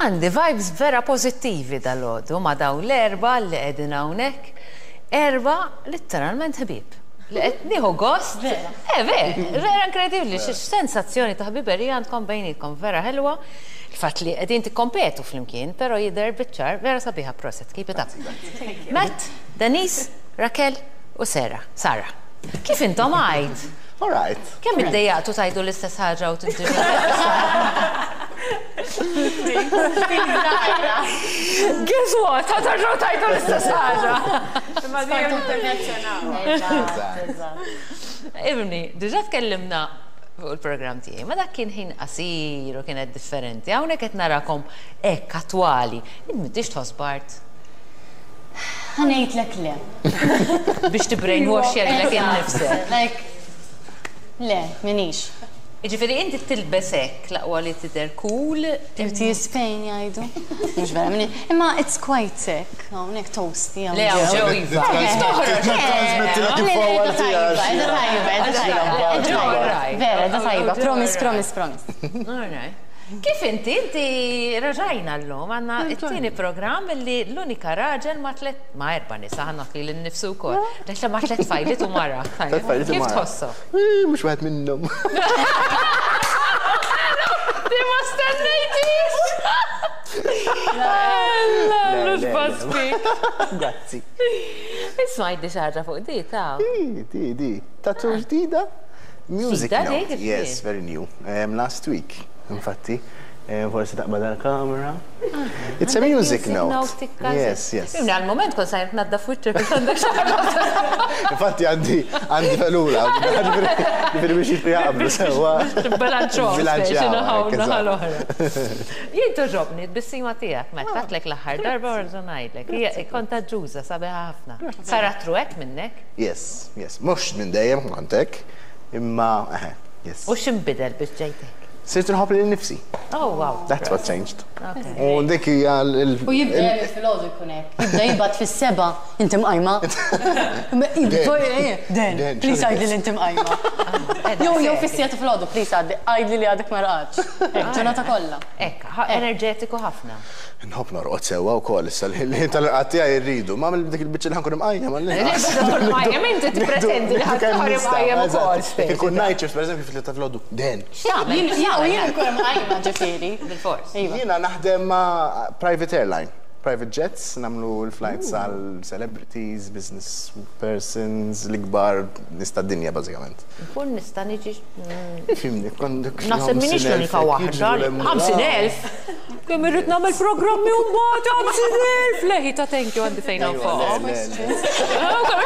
Għandi vibes vera pożittivi dalgħodu ma' dawn l-erbgħa li qegħdin hawnhekk. Erbgħa litteralment ħbieb. Li qed nieħu gost. Vera. Eh, vera, vera inkredibbli x'sensazzjoni ta' ħbiberija għandkom bejnietkom, vera ħelwa. Il-fatt li qegħdin tikkompetu flimkien, però jidher biċ-ċar vera sabiħa proset, keep it up. Matt, Denise, Raquel u Sarah. Sarah. Kif intom għid? All right. Kemm iddejjaqtu tgħidu l-istess ħaġa u tintiġu? Guess what? Ħa terġgħu tgħidu l-istess ħaġa. Imma dejjem nipperfezzjonaw. Ibni, diġà tkellimna fuq il-programm tiegħi, ma dak kien ħin qasir u kienet differenti. Hawnhekk qed narakom hekk attwali. Int m'intix tħoss Bart? Ħa ngħidlek le. Biex tibbrainwashja lilek innifsek. Like, le, m'iniex. Jiġifieri inti tilbes hekk l-aqwa li tidher cool. Dirty is pain jgħidu. Mhux vera minni. Imma it's quite hekk, hawnhekk toasty hawn Le hawn ġew iva. Toħroġ. Transmettilek il-power tiegħek. Qiegħda tajba, qiegħda tajba. Vera, qiegħda tajba. Promise, promise, promise. All right. Kif inti? Inti raġajna llum għandna t-tieni programm li l-unika raġel ma' tliet ma' erba' nisa ħa nagħti lil nnifsu wkoll. Le ma' tliet tfajliet u mara. Kif tħossok? Mhux wieħed minnhom. Di ma stennejtix! Mhux basfi. Grazzi. Isma' għidli xi ħaġa fuq di ta'. Di, di, di. Tattoo ġdida? Music note. Yes, very new. Last week, infatti. Forsi taqbad għall-kamera. It's a music note. Yes, yes. Imni għal-moment kont sajr tnaddaf wiċċek biex għandek xi ħaġa. Infatti għandi għandi felula, ġifieri biex jaqblu sewwa. Bilanċaw. Bilanċaw. l-oħra. Jien togħġobni t-tbissima tiegħek meta għedtlek l-aħħar darba u nerġa' ngħidlek. Hija kontaġġuża, sabiħa ħafna. Karattru hekk minnek? Yes, yes. Mhux minn dejjem kont hekk, imma eħe, yes. U x'inbidel biex ġejt hekk? Sirt inħobb lili nnifsi. Oh, wow. That's what changed. U dik hija l. U jibda jagħmel filgħodu jkun hekk. Jibda jibgħat fis-sebgħa, inti mqajma? Dan, please għidli li inti mqajma. Jew jew fis-siegħa ta' filgħodu, please għaddi, għidli li għadek ma rqadtx. Hekk, ġurnata kollha. Hekk, enerġetiku ħafna. Nħobb norqod sewwa wkoll issa l-ħin tal-irqad tiegħi rridu. Ma dik il-biċċa li ħa nkun imqajjem għall-inqas. Tkun imqajjem inti tippretendi li ħa tkun imqajjem ukoll. Jekk ikun night shift pereżempju fit-tlieta filgħodu, den. X'tagħmel? Jien nkun imqajma ġifieri. Bilfors. Jiena naħdem ma' private airline, private jets, nagħmlu l-flights għal celebrities, business persons, l-ikbar nies tad-dinja bażikament. Nkun nista' niġi. Ifhimni, kont. Naħseb m'iniex l-unika waħda. 50,000? Kemm irrid nagħmel programmi u mbagħad 50,000! Leħi ta' thank you għandi fejn nonfoqhom. Kemm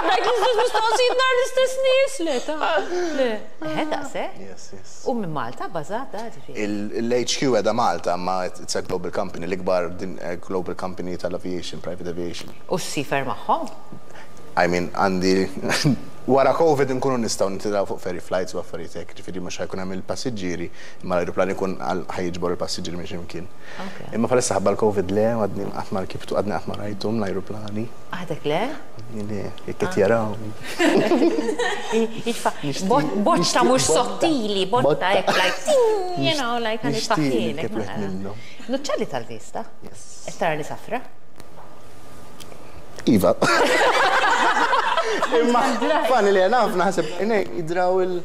qed ngħid l-istess mistoqsijiet nhar l-istess nies! Le ta' le. Eħe daqshekk? Yes, yes. U minn Malta bbażata ġifieri? Il-HQ qiegħda Malta imma it's a global company, l-ikbar global company tal-aviation, private aviation. U ssifer magħhom? I mean għandi wara Covid inkunu nistgħu nitilgħu fuq ferry flights u affarijiet hekk, ġifieri mhux ħa jkun hemm il-passiġġieri, imma l-ajruplan ikun ħa jiġbor il-passiġġieri minn xi mkien. Imma bħalissa ħabba l-Covid le, għadni qatt ma rkibtu, għadni qatt ma rajthom l-ajruplani. Għadek le? Għadni le, jekk qed jarawni. Botta mhux sottili, botta hekk like ting, you know, like ħa nitfaħħielek. Nuċċali tal-vista? Yes. Qed tarani safra? Iva. Imma fani li naf naħseb jidraw il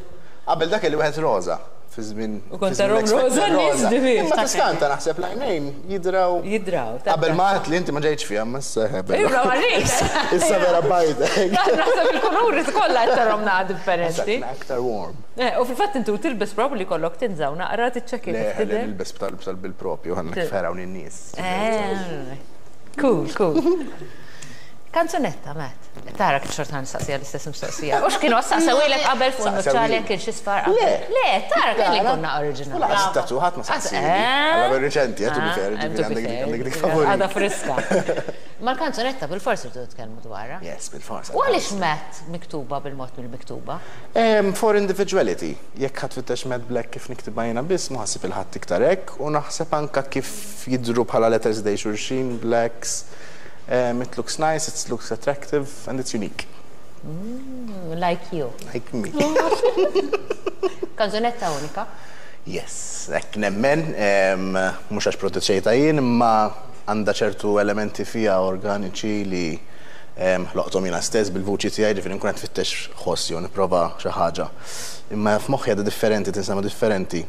qabel dak li wieħed roża fi żmien. U kont tarhom roża nies ġifieri. Imma tiskanta naħseb l-għajnejn jidraw. Jidraw. Qabel ma għedt li inti ma ġejtx fiha, ma issa ħebel. Iva, ma rridx. Issa vera bajda. Naħseb il-kuluri kollha qed tarhom naqa' differenti. Aktar warm. Eh, u fil-fatt intu tilbes probabbli jkollok tinżaw naqra tiċċekkja kif tidher. Le, nilbes bil-propju, ħa nfergħu lin-nies. Eh. Cool, cool. Kanzunetta, Matt. Tara kif xorta nistaqsija l-istess mistoqsija. U x'kienu saqsewilek qabel fuq nuċċali kien xi sfar qabel. Le, tara kelli konna oriġinali. Laqas tatu ħadd ma saqsili. Għalla ver riċenti, għatu bi fair, għandek dik favori. Għada friska. Ma l-kanzunetta bil-forsi rridu nitkellmu dwarha. Yes, bil-forsi. U għaliex Matt miktuba bil-mod mill-miktuba? For individuality. Jekk ħa tfittex Matt Black kif niktibha jiena biss, mhu ħa ssib il-ħadd iktar hekk u naħseb anke kif jidhru bħala letters ħdejn xulxin, blacks. It looks nice, it looks attractive and it's unique. Mm, like you. Like me. Kanzunetta unika. Yes, hekk nemmen, mhux għax produċejtha jien, imma għandha ċertu elementi fiha organiċi li ħloqthom jiena stess bil-vuċi tiegħi, ġifieri nkun qed nfittex ħoss jew nipprova xi ħaġa. Imma f'moħħi għadha differenti, tinstema' differenti.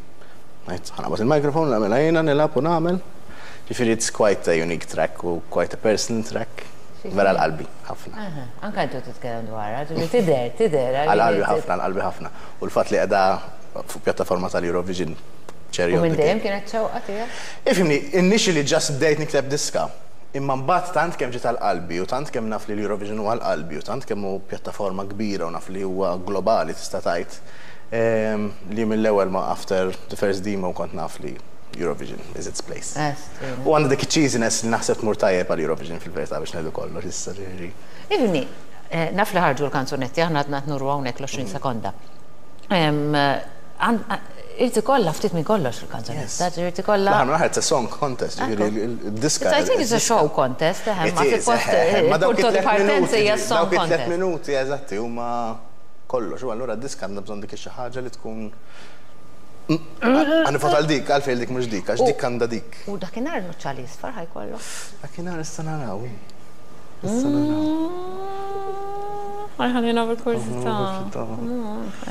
Ngħid, ħa naqbad il-microphone, nagħmilha jiena, nilgħab u nagħmel. Ġifieri it's quite a unique track u quite a personal track. Vera għal qalbi, ħafna. Anke intu titkellem dwarha, ġifieri tidher, tidher. Għal qalbi ħafna, għal qalbi ħafna. U l-fatt li qiegħda fuq pjattaforma tal-Eurovision cherry U on minn the cake. dejjem kienet xewqa tiegħek? Ifhimni, initially just bdejt nikteb diska. Imma mbagħad tant kemm ġiet għal qalbi u tant kemm naf li l-Eurovision huwa għal qalbi u tant kemm hu pjattaforma kbira u naf li huwa globali tista' tgħid, li mill-ewwel ma after the first demo kont naf li Eurovision is its place. U għandha dik iċ-cheesiness li naħseb tmur tajjeb għal Eurovision fil-verità biex ngħidu kollox issa ġifieri. Ifhimni, naf li ħarġu l-kanzunetti, aħna għadna qed nuru hawnhekk l-20 sekonda. Irid ikollha ftit minn kollox il-kanzunetta, irid ikollha. L-aħħar mill-aħħar it's a song contest, ġifieri d-diska. I think it's a show contest, eħe, ma suppost il-punto di partenza hija song contest. Dawk it-tliet minuti eżatti huma kollox, u allura d-diska għandha bżonn dik ix-xi ħaġa li tkun Ħa nivvota għal dik, għalfejn dik mhux dik, għax dik għandha dik. U dakinhar nuċċali isfar ħa jkollok? Dakinhar issa naraw. Issa naraw. Ħa jħallina bil-kurżità.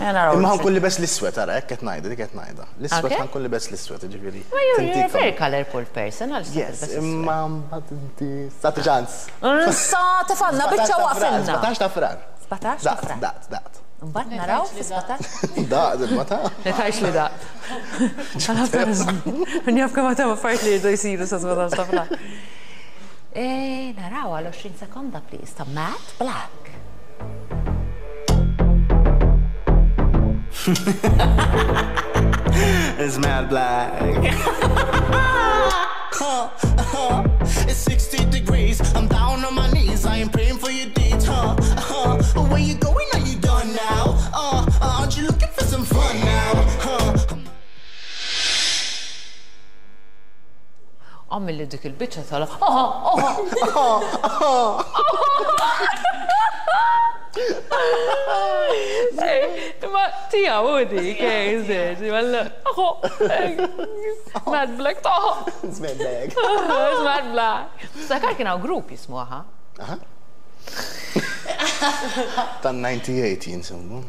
Imma ħa nkun libes l-iswed, ara, hekk qed ngħidha, dik qed ngħidha. L-iswed ħa nkun libes l-iswed, jiġifieri. Ma you're a very colourful person, għal Yes, imma mbagħad inti tagħti ċans. Issa tefgħalna biċċa waqfilna. 17 ta' Frar. 17 ta' Frar. Daqt, daqt. Mbagħad naraw fi 17. Daqt, imma ta'. Le tgħidx li daqt. Min jaf kemm għad hemm affarijiet li jridu jsiru sa 17 ta' Frar. Naraw għal 20 sekonda please ta' Matt Black. It's Matt Black. It's 60 degrees, I'm down on my knees, I am praying for your deeds, huh? Huh? Where you going? Are you done now? Aren't you looking for some fun now? Huh? Għamilli dik il-biċċa tal aha, aha, Ma tiegħu u dik, Mad Black taħ. It's Mad Black. It's Mad Black. Sakar kien hawn grupp jismu aha. Aha. Tan-98 jinsemmu.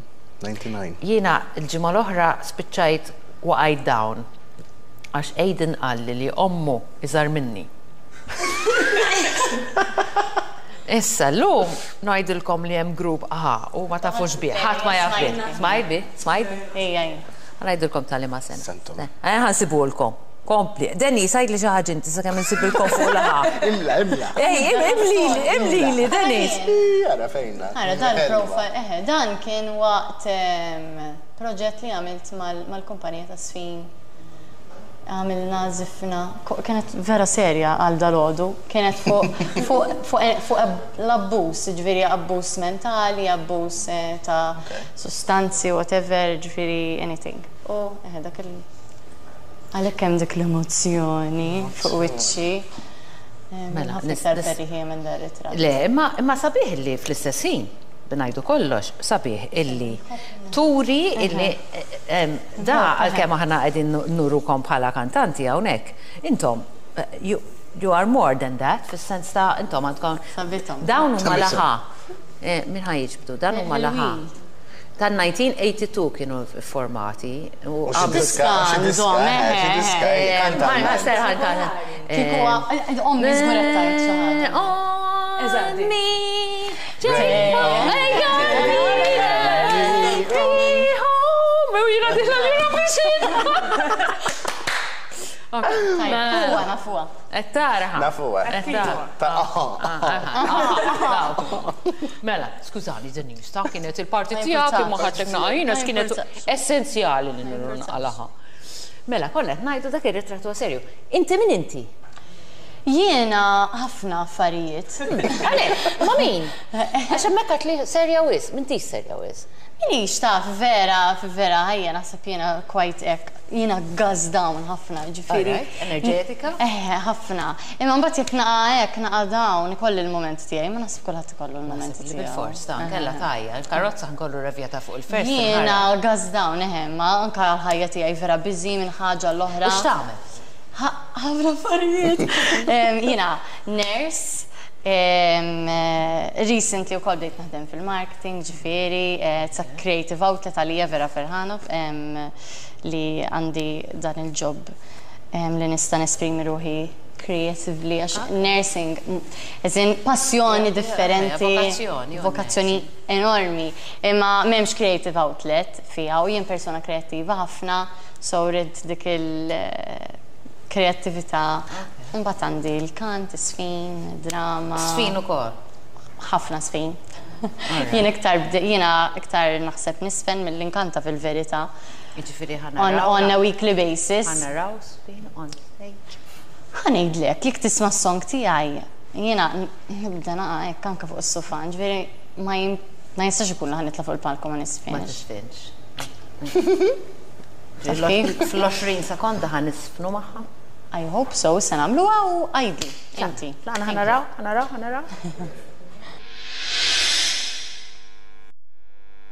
99. Jiena l-ġimgħa l-oħra spiċċajt waqajt down għax Aiden qalli li ommu iżgħar minni. Issa llum ngħidilkom li hemm grupp aha u ma tafux bih, ħadd ma jaf bih. Smajt bih? Smajt bih? Ejja, ejja. Ħa ngħidilkom ta' liema sena. Sentom. Eh, ħa nsibulkom. Kompli. Denise, għidli xi ħaġa inti sakemm insibilkom fuq l-aha. Imla, imla. Ej, imlili, imlili, Denise. Ara fejna. Ara, dan profile, eħe, dan kien waqt proġett li għamilt mal-kumpanija ta' Sfin. Għamilna żifna, kienet vera serja għal dalgħodu, kienet fuq l-abbuż, ġifieri abbuż mentali, abbuż ta' sustanzi, whatever, ġifieri anything. U eħe, dak il- Għalhekk hemm dik l-emozzjoni fuq wiċċi. Mela, Ħafna iktar ferriħija minn dar ritratt. Le, imma imma sabiħ illi fl-istess ħin, b'ngħidu kollox, sabiħ illi turi illi da għalkemm aħna qegħdin nurukom bħala kantanti hawnhekk, intom you, you are more than that, fis-sens ta' intom għandkom. Sabithom. Dawn huma l-aħa. Min ħa jiġbdu? Dan huma l-aħa. Tan-1982 kienu formati. U xi diska, xi diska, xi diska, kanta. Kieku ommi żgur qed tgħid xi ħaġa. Eżatt. Me, U jiena diħla l-Eurovision. Nafuha, nafuha. Qed taraha. Nafuha. Qed taraha. Mela, skużani Denise, ta' kienet il-parti tiegħek imma ħadtek naqa' jiena kienet essenzjali li naqalaha. Mela, konna qed ngħidu dak ir-ritratt huwa serju. Inti min inti? Jiena ħafna affarijiet. Għalek, ma min? Għax hemmhekk għedt li serja wisq, m'intix serja wisq. Minix taf, vera, vera, ħajja naħseb jiena quite hekk, jiena gas down ħafna, ġifieri. Alright, enerġetika? Eħe, ħafna. Imma mbagħad jekk naqa' hekk, naqa' down, ikolli l-mument tiegħi, ma naħseb kulħadd ikollu l-mument Naħseb li tiegħu. bil-fors ta' kella tajja, il-karozza nkollu revjata fuq il-first. Jiena gas down, eħe, ma anka l-ħajja tiegħi vera busy minn ħaġa l-oħra. U x'tagħmel? Ħafna affarijiet. Jiena nurse, recently wkoll bdejt naħdem fil-marketing, ġifieri, it's a creative outlet għalija vera ferħana li għandi dan il-job li nista' nesprimi ruħi creatively għax nursing, as in passjoni differenti, vokazzjoni, vokazzjoni enormi, imma m'hemmx creative outlet fiha u jien persona kreattiva ħafna, so rrid dik il-kreattività. Imbagħad għandi l-kant, is-sfin, drama. Sfin ukoll. Ħafna sfin. Jien iktar jiena iktar naħseb nisfen milli nkanta fil-verità. Jiġifieri ħa On, naraw. on a weekly basis. Ħa naraw sfin on stage. Ħa ngħidlek, jekk tisma' s-song tiegħi, jiena nibda naqa' hekk anke fuq is-sufan, ġifieri ma ma jistax ikun li ħa nitla' fuq il-palko ma Ma nisfinx. tisfinx. Taf kif? Fl-20 sekonda ħa nisfnu magħha. I hope so, se nagħmluha u għidli, inti. Tlaqna ħa naraw, ħa naraw, ħa naraw.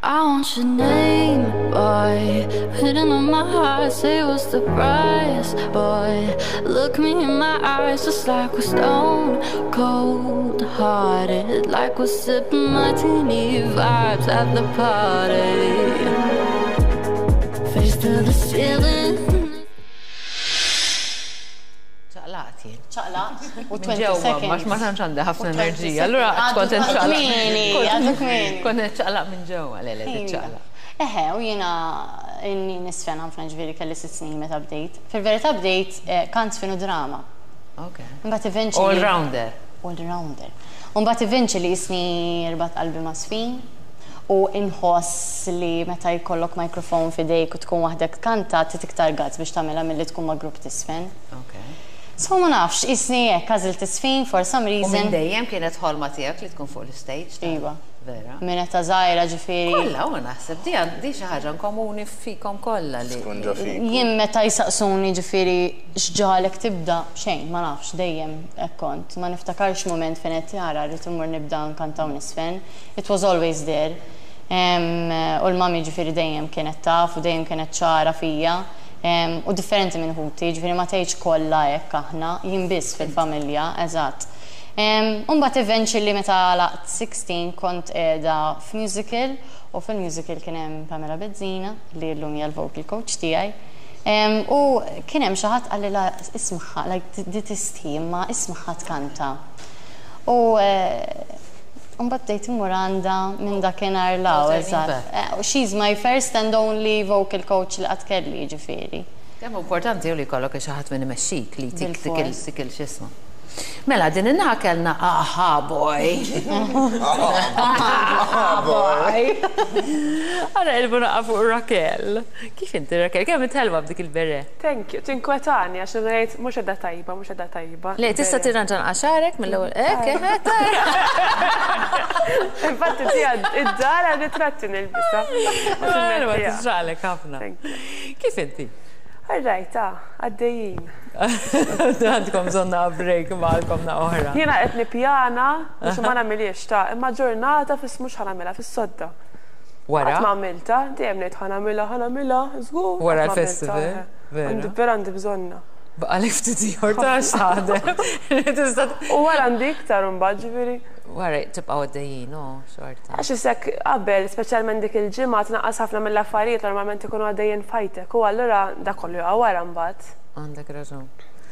I want your name, boy, written on my heart. Say what's the price, boy? Look me in my eyes, just like we're stone cold hearted, like we're sipping martini vibes at the party. Face to the ceiling. ċaqlaqt jien. Ċaqlaq u Minn 20 ġewwa, seconds. ma ma tantx għandha ħafna U 20 enerġija. Allura seconds. kont Għadu nċaqlaq. kmieni, għadu kmieni. Kont nċaqlaq minn ġewwa, le le Iva. tiċċaqlaq. Eħe, u jiena inni nisfen ħafna ġifieri kelli 6 snin meta bdejt. Fil-verità bdejt kant sfin u drama. Ok. Imbagħad eventually. All rounder. All rounder. Imbagħad eventually jisni rbat qalbi ma' sfin u inħoss li meta jkollok mikrofon f'idejk u tkun waħdek kanta trid iktar guts biex tagħmilha milli tkun ma' grupp tisfen. Ok. So ma nafx, jisni hekk għażilt tisfin for some U minn reason. dejjem kienet ħolma tiegħek li tkun fuq l-stage? ta' Iva. Vera. Minn età żgħira ġifieri. Kollha u naħseb di di xi ħaġa komuni fikom kollha li. Tkun ġo fik. Jien meta jisaqsuni ġifieri x'ġagħlek tibda, xejn, ma nafx, dejjem hekk kont. Ma niftakarx moment fejn qed jara rrid immur nibda nkanta u nisfen. It was always there. U l-mami ġifieri dejjem kienet taf u dejjem kienet ċara fija. U differenti minn ħuti, ġifieri ma tgħidx kollha hekk aħna, jien biss fil-familja, eżatt. Imbagħad eventually meta għalaqt 16 kont qiegħda f'musical u fil-musical kien hemm Pamela Bezzina li llum hija l-vocal coach tiegħi. U kien hemm xi ħadd qalli la ismaħħa, like di tistħi, imma ismaħħa tkanta. U mbagħad bdejt immur għandha minn dakinhar 'l hawn, No turning eżatt. back. She's my first and only vocal coach li qatt kelli, ġifieri. Kemm importanti li jkollok xi ħadd minn imexxik li tik tikil Bil-fors. tikil x'ismu. Mela, din in-naħa kellna aha boy. Aha boy. Ara ilbu naqa fuq Raquel. Kif inti Raquel? Kemm itħelwa b'dik il-beret? Thank you. Tinkwetani għax ngħid mhux qiegħda tajba, mhux qiegħda tajba. Le, tista' tirranġa nqaxarek mill-ewwel. Ek, eh, Infatti tija id-dar għal ritratti nilbisa. Ma tiġralek ħafna. Thank you. Kif inti? All right, ah, għaddejjin. Għandkom bżonna break magħkom na oħra. Jiena qed nippjana biex ma nagħmilix ta' imma ġurnata fis mhux ħa nagħmilha fis-sodda. Wara? Qatt ma għamilta, dejjem ngħid ħa nagħmilha, ħa nagħmilha, żgur. Wara qatt ma l-festival, għamiltha, eh. vera. Għandi vera għandi bżonna. Baqalek ftit ieħor ta' x'taħdem. Tista' U wara għandi iktar imbagħad ġifieri. Wara tibqgħu għaddejjin, oh, xorta. Għax isek qabel, speċjalment dik il-ġimgħa tnaqqas ħafna mill-affarijiet normalment ikunu għaddejjin fajtek u allura dak kollu jaqa' wara mbagħad. Għandek raġun.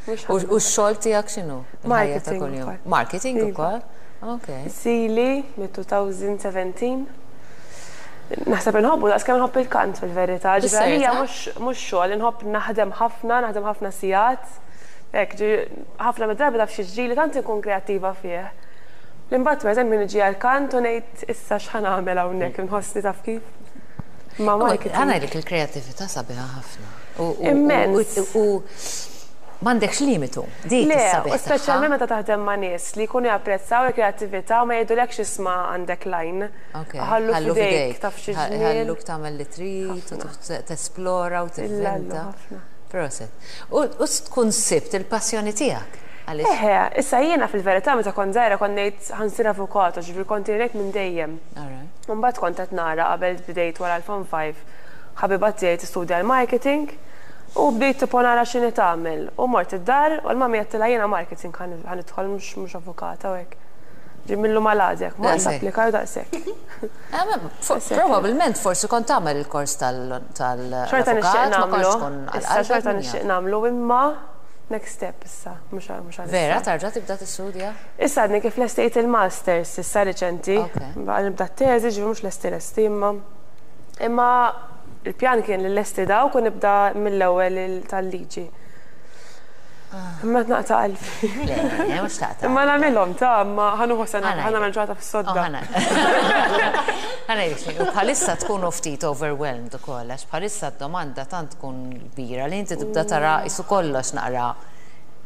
Mhux U ħafna. x-xogħol tiegħek x'inhu? Il-ħajja ta' Marketing kuljum. ukoll. Marketing Iva. ukoll? Ok. Sili mit-2017. Naħseb inħobbu daqs kemm inħobb il-kant fil-verità. Ġifieri Bis-serjetà? mhux xogħol, inħobb naħdem ħafna, naħdem ħafna sigħat. Hekk, ħafna mid-drabi taf xi ġrili tant inkun kreattiva fih. L-imbagħad pereżempju niġi għall-kant u ngħid issa x'ħa nagħmel hawnhekk inħossni taf kif. Ma marketing. Ħa ngħidlek il-kreattività sabiħa ħafna. Immens. U M'għandekx limitu. Dik Le, is-sabiħ u speċjalment tagħha. meta taħdem ma' nies li jkunu japprezzaw il-kreattività u ma jgħidulekx isma' għandek line. Ok, Iħallu ħallu f'idejk f'idejk. taf xi ġmiel. Ħalluk tagħmel li trid u tesplora u Illallu tivvinta. ħafna. Proset. U tkun sibt il-passjoni tiegħek. Għaliex? Eħe, issa jiena fil-verità meta kont żgħira kont ngħid ħa nsir avukat, ġifieri kont ngħid minn dejjem. Alright. U mbagħad kont qed nara qabel bdejt wara l-Form 5 ħabiba tiegħi tistudja l-marketing u bdejt tipo nara x'inhi tagħmel. U mort id-dar u l-mami għedtilha jiena marketing ħa nidħol mhux mhux avukata u hekk. Ġi millu mal-għadek, mort Daqshekk. applikaj u daqshekk. Eh, Probabbilment forsi kont tagħmel il-kors Xorta nixtieq tal-avukat, ma kontx nagħmlu. tkun Issa għal-qalbek xorta min jaf. nixtieq nagħmlu imma next step issa, mhux mhux għalissa. Vera, tarġa' tibda tistudja? Issa għadni kif lestejt il-masters, issa riċenti. Ok. Baqa nibda t-teżi, ġifieri mhux lesti lesti imma. Imma il-pjan kien li lesti dawk u nibda mill-ewwel tal-liġi. Imma naqta' qalbi. Le, le, mhux taqta'. Imma nagħmilhom ta' imma ħa nieħu sena, Ħa ħa nagħmel ġurnata fis-sodda. Ħa ngħidlek, u bħalissa tkunu ftit overwhelmed ukoll, għax bħalissa d-domanda tant tkun kbira li inti tibda tara isu kollox naqra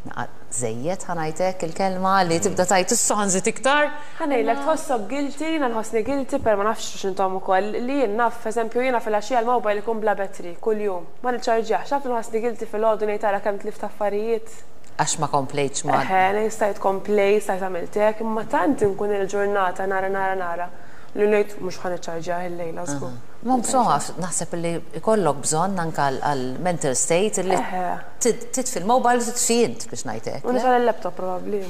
naqra żejjed ħa ngħidlek il-kelma li tibda tgħid issa ħa nżid iktar. Ħa ngħidlek tħossok guilty, jiena nħossni guilty per ma nafx x'intom ukoll li jien naf, eżempju jiena filgħaxija l-mobile ikun bla battery kuljum. Ma niċċarġjahx, naf li nħossni guilty filgħodu ngħid ara kemm tlift affarijiet. Għax ma komplejtx ma. Eħe, ngħid stajt komplejt, stajt għamilt hekk, imma tant inkun il-ġurnata nara nara nara li ngħid mhux ħa niċċarġjah illejla żgur. Ma insomma, naħseb li ikollok bżonn anke għal mental state li titfi l-mobile u titfi int biex ngħid hekk. U nixgħel il-laptop probabbli.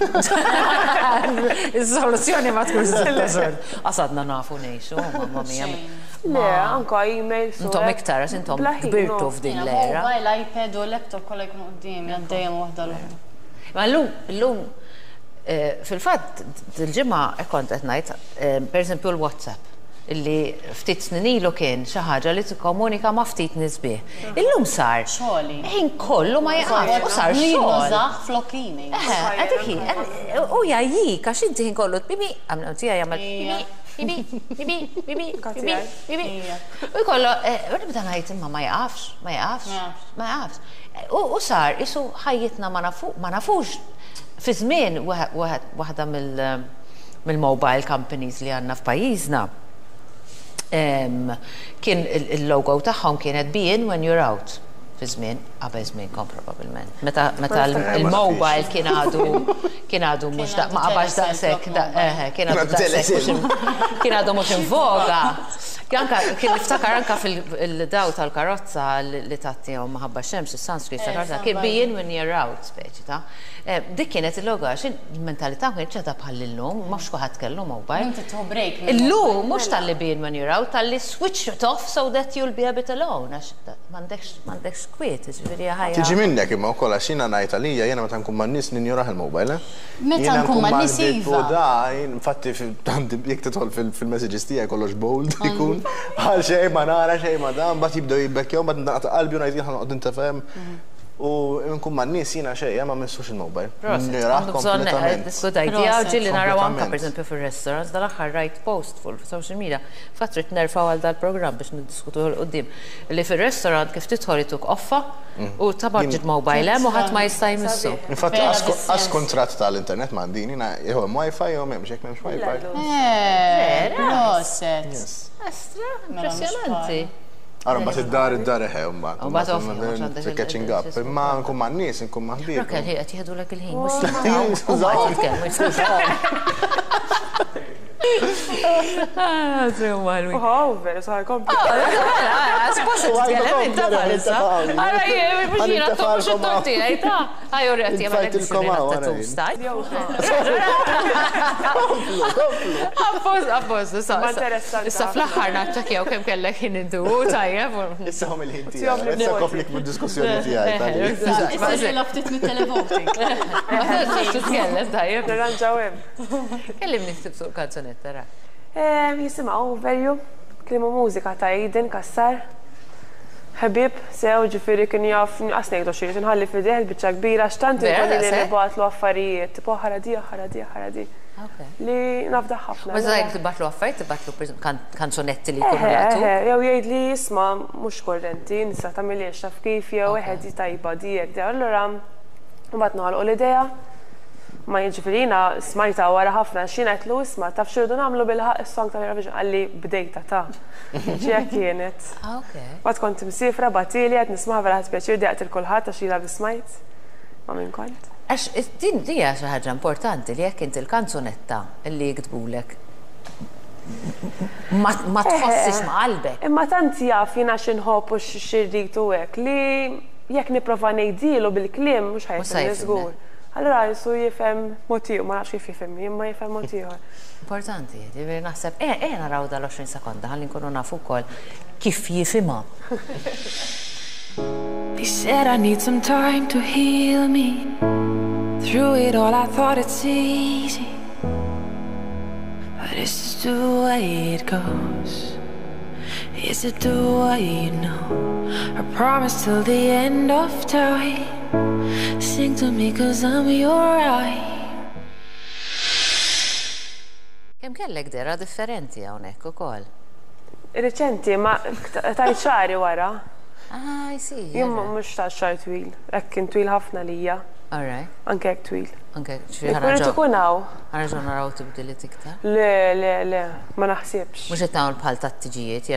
Is-soluzzjoni ma tkunx żgur. Qasadna nafu ngħixu, mamma mia. Le, anka email. Intom iktar, għax intom kbirtu f'din l-era. Mobile, iPad u laptop kollha jkunu quddiemi għaddejjem waħda l-oħra. Ma llum, llum, fil-fatt, dil-ġimgħa kont qed ngħid, pereżempju l-WhatsApp, illi ftit snin ilu kien xi ħaġa li tikkomunika ma' ftit nies bih. Illum sar. Xogħli. Ħin kollu ma jaqax u sar Jien xogħol. nużah flok email. Eħe, għadik hi, u jgħajjik għax inti ħin kollu bibi, għamlu tiegħi jagħmel bibi, bibi, bibi, bibi, bibi, bibi. U jkollu, u nibda ngħid imma ma jaqafx, ma jaqafx, ma jaqafx. U sar isu ħajjitna ma nafu, ma nafux. Fi żmien waħda mill-mobile companies li għandna f'pajjiżna kien il-logo tagħhom kienet be in when you're out. Fi żmien, qabel żmienkom probabbilment. Meta meta il-mobile kien għadu kien għadu mhux da ma qabax daqshekk, eħe, kien għadu daqshekk mhux kien għadu mhux in voga. Anka kien niftakar anka fil-daw tal-karozza li tagħtihom minħabba x-xemx, is-sunscreen tal-karozza, kien be in when you're out, speċi ta'. Dik kienet il-logo għax il-mentalità ma kienx għadha bħal illum, mhux kulħadd kellu mobile. Inti tieħu break. Illum mhux talli be in when you're out, talli switch it off so that you'll be a bit alone, għax m'għandekx m'għandekx kwiet, ġifieri ħajja. Tiġi minnek imma wkoll għax jiena ngħid għalija jiena meta nkun man-nies ninjorah il-mobile. Meta Jiena nkun man-nies mal-ħbieb u iva. da, jien infatti jekk tidħol fil-messages tiegħi kollox bold ikun għal xejn ma nara xejn ma dan, mbagħad jibdew jibbekkjaw, mbagħad naqta' qalbi u ngħid jien ħa noqgħod intefhem. U nkun man-nies jiena xejn, ma missux il-mobile. Proset, Ninjorah għandu bżonn kompletament. Good idea, ġieli naraw anka Kompletament. per esempio fil-restaurants, dal-aħħar rajt post fuq social media, fatt rrid nerfgħu għal dal-programm biex niddiskutu 'l quddiem. Li fil-restaurant kif tidħol ituk offa u tabaġġi mobile hemm u ħadd ma jista' jmissu. Infatti, Vera għas bis-sens. kontrat tal-internet m'għandini, jiena jew hemm wifi jew m'hemmx, jekk m'hemmx wifi. Eh, Vera? Proset. Yes. Astra, Mela, mhux impressjonanti. Ara, mbagħad id-dar id-dar eħe, mbagħad. U mbagħad ovvju, mhux għandek Catching up. Imma nkun man-nies, nkun ma' ħbieb. Rakel, hi qed jieħdulek il-ħin, mhux u ma qed jitkellmu. Ah, sew ħelwi. Oh, veru, saħ kompli. Suppost titkellem inta bħalissa. Ara, jien, mhux jiena mhux it-tort tiegħi ta' Ħaj urret jagħmel Infajtilkom hawn, ara jien. Appost, appost, issa. Ma interessanti Issa ħafna. fl-aħħar naċċekkjaw kemm kellek ħin intu, tajjeb. Issa hom il-ħin tiegħi. Tihom Issa li koplik mid-diskussjoni tiegħi tal Issa ġilla ftit mit-televoting. Ma titkellem tajjeb. Nirranġaw hemm. Kellimni ftit fuq kanzunetta ra. Jisimha Over You, kliem u mużika ta' Aiden Kassar. Ħabib, sew ġifieri kien jaf, qas ngħidu xi nħalli f'idejh il-biċċa kbira x'tant Vera, inkun li daqshekk? nibgħatlu affarijiet, tipo ħara di, ħara di, ħara di. Ok. Li nafdaħ ħafna. Ma zaħek tibgħatlu affarijiet, tibgħatlu per eżempju, kanzunetti li jkunu Eħe, laqtu. eħe, jew jgħid li jisma' mhux korrenti, nista' tagħmiliex taf kif jew eħe di tajba di hekk di. Allura Mbagħad noħolqu l-idea. Ma jiġifieri jiena smajtha wara ħafna għax jiena għedtlu isma' taf x'irridu nagħmlu bilħaqq is-song tal-Eurovision qalli bdejtha ta. Ġi hekk kienet. Mbagħad kont imsiefra bagħtieli qed nismaha vera ħadt pjaċir dejjaqt lil kulħadd għax ilha biss smajt ma' min kont. Għax din hija xi ħaġa importanti li jekk inti l-kanzunetta li jiktbulek ma tħossix ma' qalbek. Imma tant jaf jiena x'inħobb u x'irrid u hekk li jekk nipprova ngħidhielu bil-kliem mhux ħa jifhimni żgur. Allura qisu jifhem mod ieħor, ma nafx kif jifhimni, imma jifhem mod ieħor. Importanti, jiġifieri naħseb ejja ejja naraw dal-20 sekonda ħalli nkunu nafu wkoll kif jifhimha. They said I need some time to heal me Through it all I thought it's easy But it's just the way it goes Is it the way you know I promise till the end of time Sing to me cause I'm your eye Kemm kellek dehra differenti hawnhekk ukoll. Riċenti, ma tajt xagħri wara. Ah, I see. Jien mhux ta' xagħar twil, hekk kien twil ħafna lija. All right. Anke hekk twil. Anke hekk, ġifieri ħa nerġgħu. Irid ikun hawn. Ħa nerġgħu naraw tibdiliet iktar? Le, le, le, ma naħsibx. Mhux qed nagħmel bħal tat-tiġijiet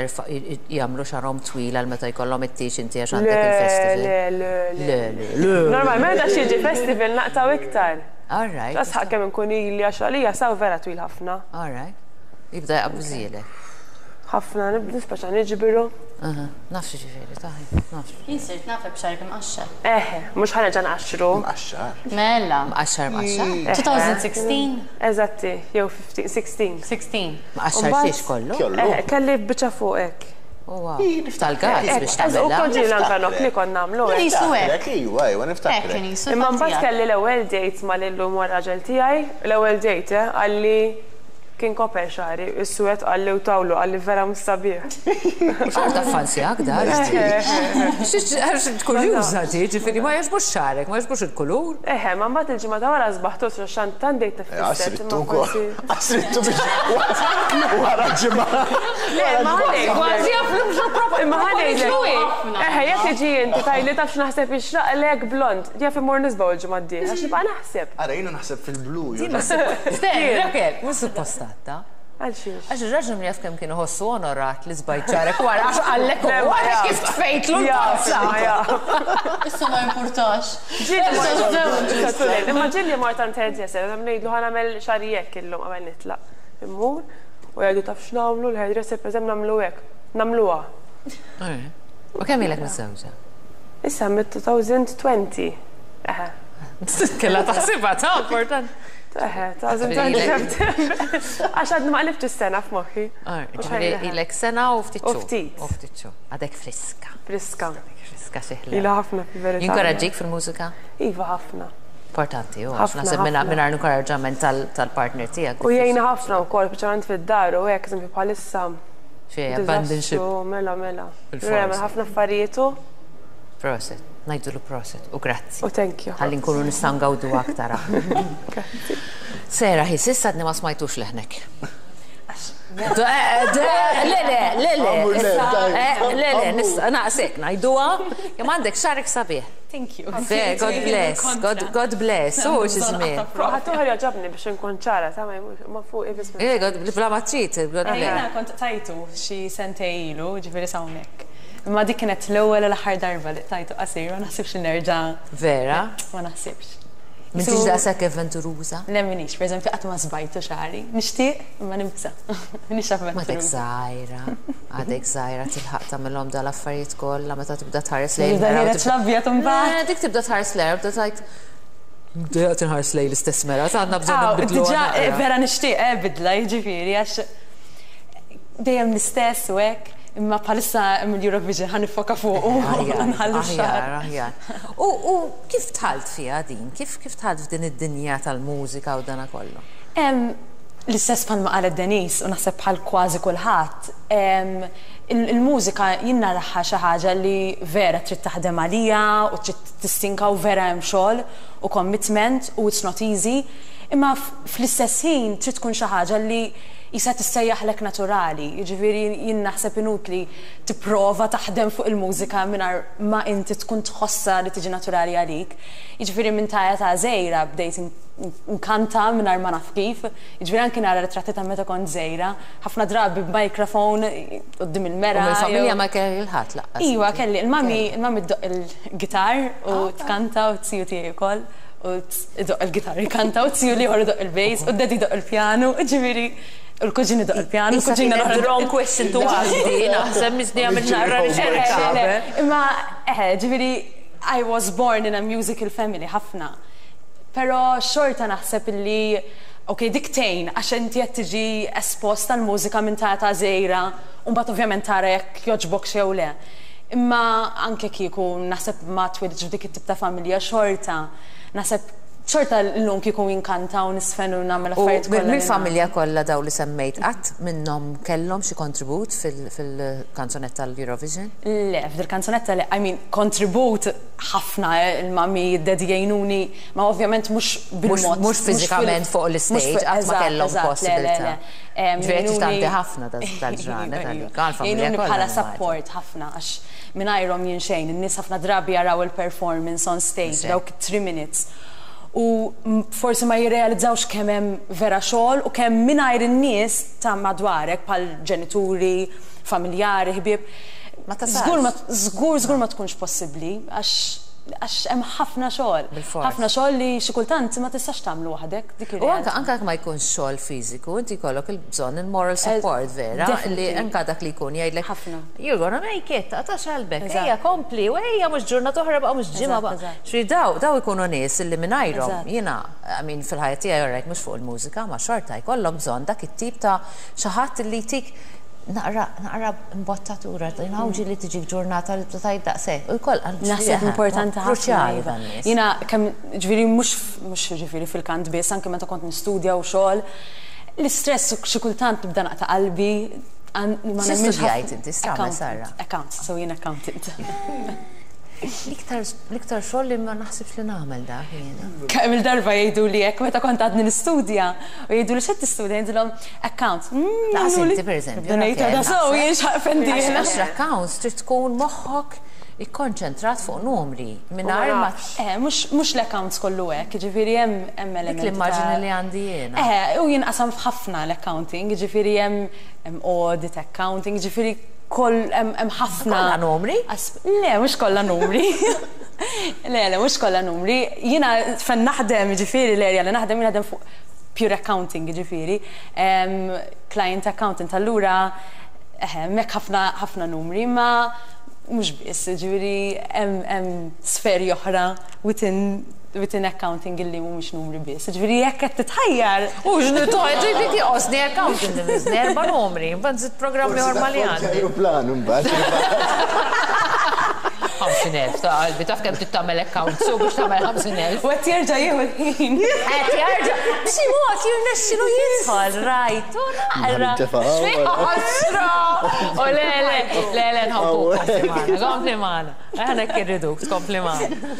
jagħmlu xagħarhom twil għal meta jkollhom it-tieġ inti għax għandek il-festival. Le, le, le. Le, le, le. Normalment għax jiġi festival naqtgħu iktar. All right. Tasħaq kemm inkun ili għax għalija saw vera twil ħafna. All right. Jibda jaqbużielek. Ħafna, nispeċa niġbiru. Naf x'jiġifieri, taħi, naf. Jien sirt nafek b'xagħrek imqaxxar. Eħe, mhux ħa nerġa' nqaxxru. Mqaxxar? Mela. Mqaxxar mqaxxar? 2016? Eżatti, jew 15, 16. 16. Mqaxxar xiex kollu? Eħe, kelli biċċa fuq hekk. Oh wow. Tal-gazz biex tagħmilha. U kont ġieli anke nokli kont nagħmlu hekk. Qisu hekk. Iva, iva, niftakrek. Hekk kien qisu. Imma mbagħad kelli l-ewwel date mal-illum huwa r-raġel tiegħi, l-ewwel date, eh, qalli Kien koper xagħri, is-suwed qalli u tawlu qalli vera mhux sabiħ. Xorta ffansjak dar. Għax kurjuża di, ġifieri ma jogħġbux xagħrek, ma jogħġbux il-kulur. Eħe, ma mbagħad il-ġimgħa ta' wara sbaħtu għax tant bdejt nifisser. Għasrittu wkoll. Għasrittu biex wara ġimgħa. Le, ma ħanejlek. Kważi jaf li mhux propju. Imma ħanejlek. Eħe, jekk tiġi inti tgħidli taf x'naħseb jixraqlek blond, jaf immur nisbaħ il-ġimgħa d-dieħla għax nibqa' naħseb. Ara jiena naħseb fil-blu. Raquel, mhux suppost għadda. Għal xiex? Għax ir-raġel min jaf kemm kien iħossu onorat li żbajt xagħrek wara għax qallek hu wara kif tfejtlu l-tazza. Issa ma jimpurtax. Imma ġieli mort għand hairdresser, ngħidlu ħa nagħmel xagħri hekk illum qabel nitlaq. Immur u jgħidu taf x'nagħmlu l-hairdresser pereżempju nagħmlu hekk. Nagħmluha. U kemm ilek miżżewġa? Issa mid-2020. Eħe. Kellha taħsibha ta' importanti. Eħe, ta' Għax għadni ma qlibtx is-sena f'moħħi. Ġifieri ilek sena u ftit xhur. U ftit. U ftit xhur. Għadek friska. Friska. Friska xi ħla. Ilha ħafna fil-verità. Jinkoraġġik fil-mużika? Iva ħafna. Importanti, u għax naħseb mingħajr inkoraġġament tal-partner tiegħek. U jgħinna ħafna wkoll, speċjalment fid-dar u hekk, eżempju bħalissa. Xi abandon ship. Mela, mela. Ħafna affarijiet u. Proset. Ngħidulu proset u grazzi. U thank you. Ħalli nkunu nistgħu ngawdu aktar aħna. Grazzi. Sarah, hi s'issa għadni ma smajtux leħnek. Le, le, le, le. Le, le, nista' naqsek ngħiduha, kemm għandek xagħrek sabiħ. Thank you. God bless, God, God bless. U xi żmien. Fuq ħadd oħra jogħġobni biex inkun ċara, ta' ma fuq biss. Eh, God, bla ma trid, God bless. Jiena kont tajtu xi sentejn ilu, ġifieri s'hawnhekk. Imma dik kienet l-ewwel u l-aħħar darba li qtajtu qasir, ma naħsibx li nerġa'. Vera? Ma naħsibx. M'intix daqshekk avventuruża? Le m'iniex, pereżempju qatt ma żbajtu xagħri. Nixtieq, imma nibża'. M'iniex avventuruża. M'għadek żgħira, għadek żgħira tilħaq tagħmilhom dal-affarijiet kollha meta tibda tħares lejn il-mera. Jibda ħiereġ l-abjad imbagħad. Le, dik tibda tħares lejha u tibda tgħid Dejjaqt inħares lejn l-istess mera, għandna bżonn nbidlu. Diġà vera nixtieq eh bidla, jiġifieri għax dejjem l-istess u hekk, imma bħalissa hemm il-Eurovision ħa niffoka fuqu u nħallu x-xagħar. Aħjar, aħjar. U kif dħalt fiha din? Kif kif dħalt f'din id-dinja tal-mużika u dana kollu? L-istess bħalma qalet Denise u naħseb bħal kważi kulħadd, il-mużika jien naraha xi ħaġa li vera trid taħdem għaliha u trid tistinka u vera hemm xogħol u commitment u it's not easy, imma fl-istess ħin trid tkun xi ħaġa li Isa tissejjaħlek naturali, jiġifieri jien naħseb inutli tipprova taħdem fuq il-mużika mingħajr ma inti tkun tħossha li tiġi naturali għalik. Jiġifieri minn ta' età żgħira bdejt nkanta mingħajr ma naf kif, jiġifieri anki nara ritratti ta' meta kont żgħira, ħafna drabi b'microphone quddiem il-mera. U mill-familja ma kellek lil ħadd lanqas? Iva kelli, il-mami, il-mami ddoqq il-gitar u tkanta u t-tiju tiegħi wkoll. U idoqq il-gitar jkanta u t-tiju l-ieħor idoqq il-bass u d-daddy jdoqq il-pjanu, ġifieri u l-kuġin idoqq il-pjanu, il-kuġina l-oħra. The wrong question to ask di, naħseb misni għamilt naqra riċerka. Imma eħe, ġifieri I was born in a musical family ħafna. Però xorta naħseb illi ok, dik tgħin għax inti qed tiġi espost għall-mużika minn ta' età żgħira u mbagħad ovvjament tara jekk jogħġbokx jew le. Imma anke kieku naħseb ma twilidtx f'dik it-tip ta' familja xorta naħseb xorta llum kieku inkanta u nisfen u nagħmel affarijiet kollha. U mill-familja kollha dawn li semmejt qatt minnhom kellhom xi kontribut fil-kanzunetta tal-Eurovision? Le, f'dil-kanzunetta le, I mean kontribut ħafna il-mummy, id-daddy jgħinuni, ma ovvjament mhux bil-mod. Mhux fiżikament fuq l-istage, qatt ma kellhom possibilità. Ġifieri qed tgħaddi ħafna dal-ġranet għalik, għall-familja Jgħinuni bħala support ħafna għax mingħajrhom jien xejn. In-nies ħafna drabi jaraw il-performance on stage dawk it-three minutes u forsi ma jirrealizzawx kemm hemm vera xogħol u kemm mingħajr in-nies ta' madwarek bħal ġenituri, familjari, ħbieb, żgur ma żgur żgur ma tkunx possibbli għax għax hemm ħafna xogħol. Bilfors. Ħafna xogħol li xi kultant ma tistax tagħmlu waħdek, dik U anke ir-realtà. anke jekk ma jkunx xogħol fiżiku, inti jkollok il-bżonn il-moral support vera, li Definitely. anke dak li jkun jgħidlek Ħafna. You're gonna make it, taqtax qalbek, Eżatt. ejja kompli, u ejja mhux ġurnata oħra baqa' mhux ġimgħa Eżatt, baqa'. eżatt. Ġifieri daw daw ikunu nies li mingħajrhom Eżatt. jiena, I mean fil-ħajja tiegħi alright mhux fuq il-mużika, ma xorta jkollhom bżonn dak it-tip ta' xi ħadd li jtik Naqra, naqra imbottatura, inawġi li tiġik ġurnata li tibda tgħid daqshekk. U jkoll, Naħseb importanti ħafna. Kruċjali iva. dan nies. Jiena kemm ġifieri mhux mhux ġifieri fil-kant biss, anke meta kont nistudja u xogħol, l-istress u xi kultant nibda naqta' qalbi. Ma Xi nemminx studjajt inti, x'tagħmel Sarah? Accounts, so jien accountant. L-iktar l-iktar xogħol li ma naħsibx li nagħmel dak jiena. Kemm il-darba jgħiduli hekk meta kont għadni nistudja u jgħiduli x'qed tistudja ngħidilhom accounts. Mm, Laqas inti pereżempju. Ngħid għadha sew jien x'ħaqfen dieħla. Għax l-accounts trid tkun moħħok ikkonċentrat fuq numri mingħajr ma. Eh, mhux l-accounts kollu hekk, jiġifieri hemm hemm elementi. Dik l-immaġini li għandi jiena. Eh, u jinqasam f'ħafna l-accounting, jiġifieri hemm audit accounting, jiġifieri Koll hemm ħafna. Kollha numri? Le, mhux kollha numri. Le, le, mhux kollha numri. Jiena fejn naħdem, jiġifieri l-area li naħdem, jien naħdem fuq pure accounting, jiġifieri. Client accountant, allura eħe, hemmhekk ħafna ħafna numri, imma mhux biss, jiġifieri hemm sferi oħra within within accounting illi mhumiex numri biss. Jiġifieri jekk qed titħajjar. U x'nitgħid dik joqosni accounting imiżni erba' numri, mbagħad nżid programm ieħor ma' li għandi. Ajruplan imbagħad. 50,000 ta' qalbi, taf kemm trid tagħmel accounts u biex tagħmel 50,000. U qed jerġa' jieħu l-ħin. Qed jerġa' b'xi mod jirnexxilu jidħol rajtu naqra. X'ħasra! U le le le le nħobbuk kompli magħna, kompli magħna. Aħna hekk irriduk tkompli magħna.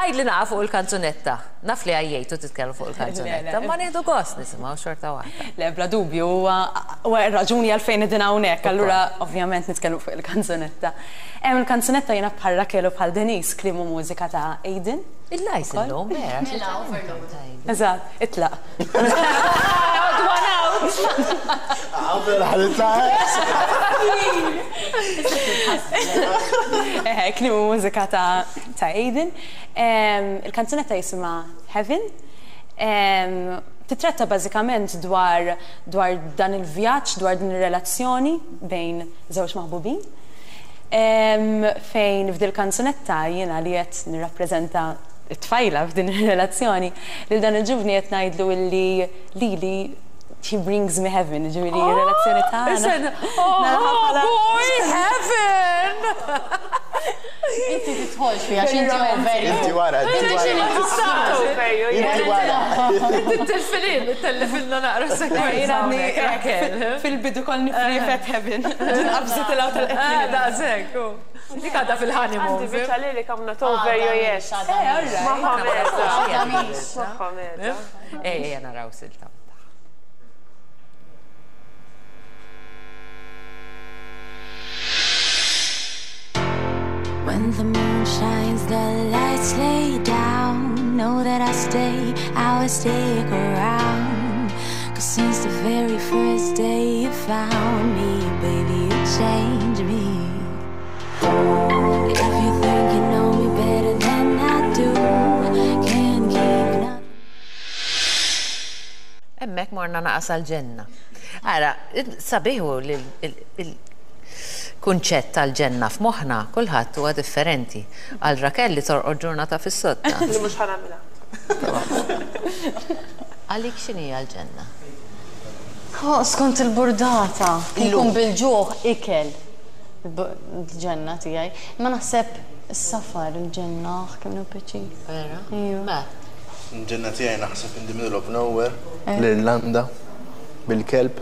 Għidli naqa' fuq il-kanzunetta. Naf li għajjejtu titkellmu fuq il-kanzunetta, imma nieħdu gost nisimgħu xorta waħda. Le, bla dubju, huwa r-raġuni għalfejn qegħdin hawnhekk, allura ovvjament nitkellmu fuq il-kanzunetta. Il-kanzunetta jiena bħal Raquel u bħal Denise kliem u mużika ta' Aidan. Il-lajs illum, vera. Mela, overload. Eżatt, itlaq. Odd one out! Eħe, kliem u mużika ta' ta' Aidan. Il-kanzunetta jisimha Heaven. Titratta bażikament dwar dwar dan il-vjaġġ, dwar din ir-relazzjoni bejn żewġ maħbubin. Fejn f'dil-kanzunetta jiena li qed nirrappreżenta t-tfajla f'din ir-relazzjoni, lil dan il-ġuvni qed ngħidlu illi lili he brings me heaven, jiġifieri r-relazzjoni tagħna. Oh, boy, heaven! Inti tidħolx fiha għax inti over you. Inti wara, inti wara. Inti wara. Inti tellfilin, tellifilna naqra sekwenza. Fil-bidu konni frifet heaven. Din qabżit il tal Eh, daqshekk. Dik għadha fil-honeymoon. Għandi biċċa lyric I'm not over you yet. Magħha meta. Magħha meta. Ejja naraw silta. When the moon shines, the lights lay down. Know that I stay, I will stick around. Cause since the very first day you found me, baby, you changed me. If you think you know me better than I do, can't keep nothing. Hemmhekk morna naqas għall-ġenna. Ara, sabiħ hu li l-kunċett tal-ġenna f'moħħna kulħadd huwa differenti. Għal Raquel li torqod ġurnata fis-sodda. Li mhux ħa nagħmilha. Għalik x'inhi l-ġenna? Oh, skont il-burdata. Ikun bil-ġuħ ikel. Il-ġenna tiegħi. Ma naħseb is-safar il-ġenna, kemm nieħu pjaċir. Vera? Ejju. Matt. Il-ġenna tiegħi naħseb in the middle of nowhere, l-Irlanda, bil-kelb,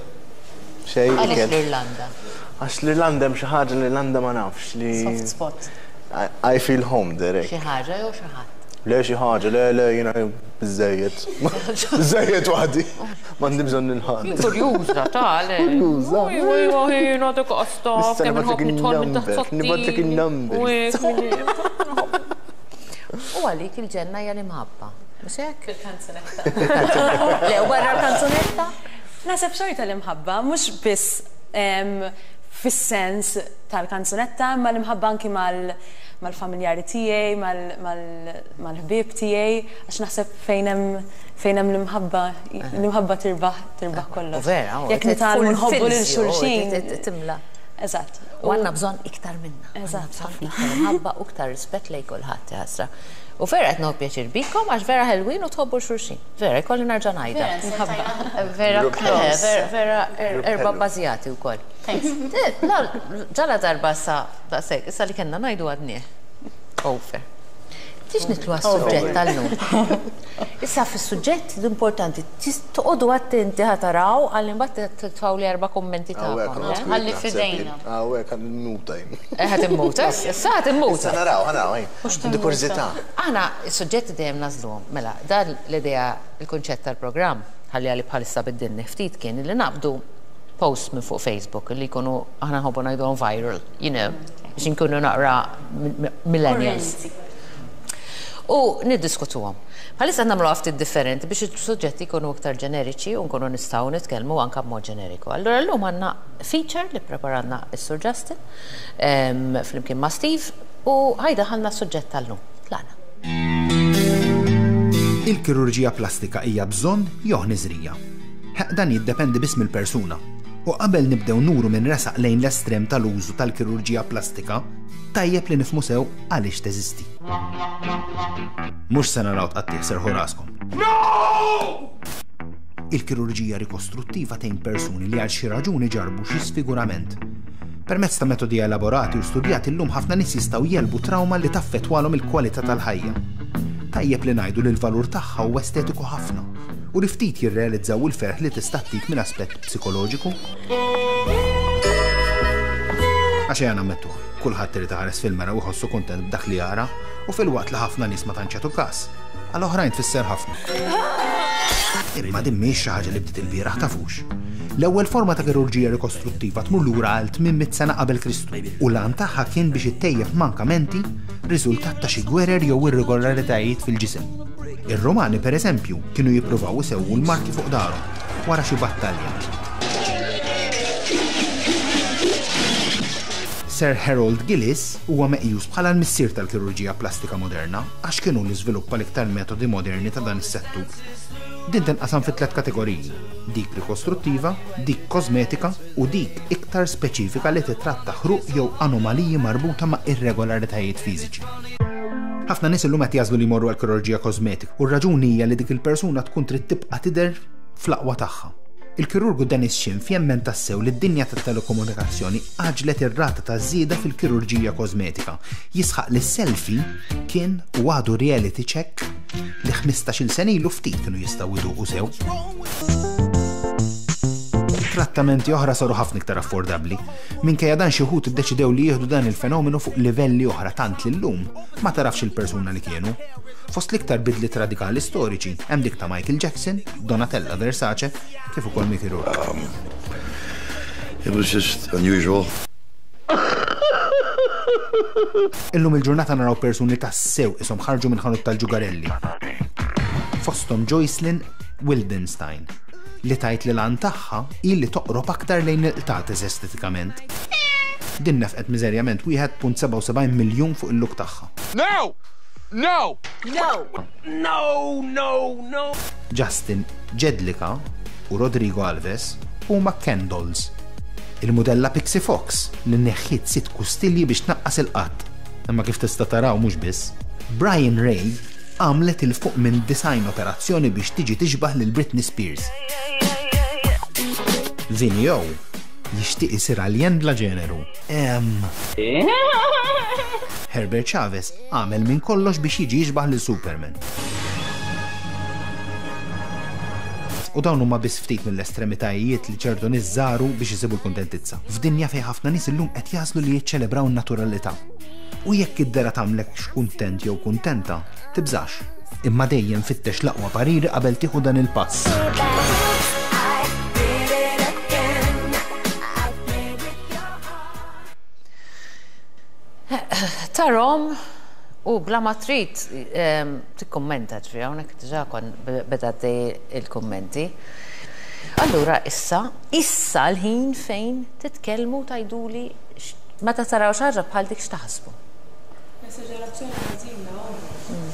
xejn. Għaliex ikel. l-Irlanda? Għax l-Irlanda hemm xi ħaġa l-Irlanda ma nafx li. Soft spot. I feel home there. Xi ħaġa jew xi ħadd? Le xi ħaġa, le le jiena biżejjed. Biżejjed waħdi. M'għandi bżonn il-ħadd. Kurjuża ta' le. Kurjuża. Ujwa, jiena dik qasta. Issa nibgħatlek in-number, nibgħatlek in-number. U għalik il-ġenna hija l-imħabba. Mhux hekk? Fil-kanzunetta. Le, u barra l-kanzunetta? Naħseb xorta l-imħabba, mhux biss fis-sens tal-kanzunetta, imma l-imħabba anki mal-familjari tiegħi, mal-ħbieb tiegħi, għax naħseb fejn hemm l-imħabba, l-imħabba tirbaħ tirbaħ kollox. U vera, u Jekk nitgħallmu nħobbu lil xulxin. Timla. Eżatt. U għandna bżonn iktar minna. Eżatt, ħafna. Iktar imħabba u iktar rispett lejn kulħadd ħasra. U vera qed nieħu pjaċir bikom għax vera ħelwin u tħobbu xulxin. Vera, jkolli nerġa' ngħidha. Vera Grupp close. Vera, vera erba' ħelu. bbażjati wkoll. Thanks. Ġala darba sa daqshekk, issa li kellna ngħidu għadnieh. Over. Tix nitlu għas-suġġett tal-lum. Issa fis-suġġett l-importanti, toqgħodu attenti ħa taraw għalli mbagħad titfgħu li erba' kummenti tagħkom. eh? Ħalli f'idejna. Hawnhekk għan immuta jien. Ħa timmuta, issa ħa timmuta. Issa naraw, ħa naraw, ejn. Għandi kurżità. Aħna is-suġġetti dejjem nażluhom. Mela, dan l-idea, il-kunċett tal-programm, ħalli għalli bħalissa biddilni ftit kien li naqbdu post minn fuq Facebook li jkunu aħna nħobbu ngħidulhom viral, biex nkunu naqra millennials. Kurrenti. U niddiskutuhom. Bħalissa nagħmlu ftit differenti biex is-suġġetti jkunu iktar ġeneriċi u nkunu nistgħu nitkellmu anke b'mod ġeneriku. Allura llum għandna feature li preparanna s-Sur Justin flimkien ma' Steve u ħajdaħalna s-suġġett tal-lum. Tlaqna. Il-kirurġija plastika hija bżonn jew ħniżrija. Dan jiddependi biss mill-persuna. U qabel nibdew nuru minn resaq lejn l-estrem tal-użu tal-kirurġija plastika, tajjeb li nifhmu sew għaliex teżisti. Mhux se naraw tqattih serħu raskom. Il-kirurġija rikostruttiva tgħin persuni li għal xi raġuni ġarbu xi sfigurament. Permezz ta' metodi elaborati u studjati llum ħafna nies jistgħu jelbu trauma li taffettwalhom il-kwalità tal-ħajja. Tajjeb li ngħidu li l-valur tagħha huwa estetiku ħafna u li ftit jirrealizzaw il-ferħ li tista' ttik minn aspett psikoloġiku. Għax ejja nammettu, kulħadd irid iħares fil-mera u jħossu kuntent b'dak li jara u filwaqt li ħafna nies ma tantx jagħtu każ, għal oħrajn tfisser ħafna. Imma din mhijiex xi ħaġa li bdiet ilbieraħ tafux. L-ewwel forma ta' kirurġija rikostruttiva tmur lura għal 800 sena qabel Kristu u l-għan tagħha kien biex ittejjeb mankamenti riżultat ta' xi gwerer jew irregolaritajiet fil-ġisem. Ir-Rumani pereżempju kienu jippruvaw isewwu l-marki fuq darhom wara xi battalja. Sir Harold Gillis huwa meqjus bħala l-missier tal-kirurġija plastika moderna għax kienu li żviluppa l-iktar metodi moderni ta' dan is-settur. Din tinqasam fi tliet kategoriji: dik rikostruttiva, dik kosmetika u dik iktar speċifika li titratta ħruq jew anomaliji marbuta ma' irregolaritajiet fiżiċi. Ħafna nies illum qed jagħżlu li jmorru għal kirurġija kosmetika u r-raġuni hija li dik il-persuna tkun trid tibqa' tidher fl-aqwa tagħha. Il-kirurgu Dennis Schimpf jemmen tassew li d-dinja tat-telekomunikazzjoni għaġlet ir-rata ta' żieda fil-kirurġija kosmetika. Jisħaq li selfie kien u għadu reality check li 15-il sena ilu ftit kienu jistgħu jduqu sew. Trattamenti oħra saru ħafna iktar affordabbli. Minkejja dan xi wħud iddeċidew li jieħdu dan il-fenomenu fuq livelli oħra tant li llum ma tarafx il-persuna li kienu. Fost l-iktar bidliet radikali storiċi hemm dik ta' Michael Jackson, Donatella Versace, kif ukoll Mickey Rourke. It was just unusual. Illum il-ġurnata naraw persuni tassew qishom ħarġu minn ħanut tal-ġugarelli. Fosthom Joycelyn Wildenstein, li tgħid li l-għan tagħha hi li toqrob aktar lejn il-qtates estetikament. Din nefqet miżerjament 1.77 miljun fuq il-look tagħha. No! No! No! No! No! No! Justin Jedlicka u Rodrigo Alves huma Ken dolls. Il-mudella Pixie Fox li neħħiet sitt kustilji biex tnaqqas il-qadd. Imma kif tista' taraw mhux biss. Brian Ray għamlet 'il fuq minn 90 operazzjoni biex tiġi tixbah lil Britney Spears. Vinny O jixtieq isir aljen bla ġeneru. Ehm. Herbert Chavez għamel minn kollox biex jiġi jixbah lil Superman. U dawn huma biss ftit mill-estremitajiet li ċertu nies żaru biex isibu l-kuntentizza. F'dinja fejn ħafna nies illum qed jagħżlu li jiċċelebraw in-naturalità. U jekk id-dehra tagħmlekx kuntent jew kuntenta, tibżax. Imma dejjem fittex l-aqwa pariri qabel tieħu dan il-pass. Tarhom u bla ma trid tikkummenta ġifieri hawnhekk diġà kon beda għaddej il-kummenti. Allura issa, issa l-ħin fejn titkellmu u tgħiduli meta taraw xi ħaġa bħal dik x'taħsbu. Esaġerazzjoni ħażina hu.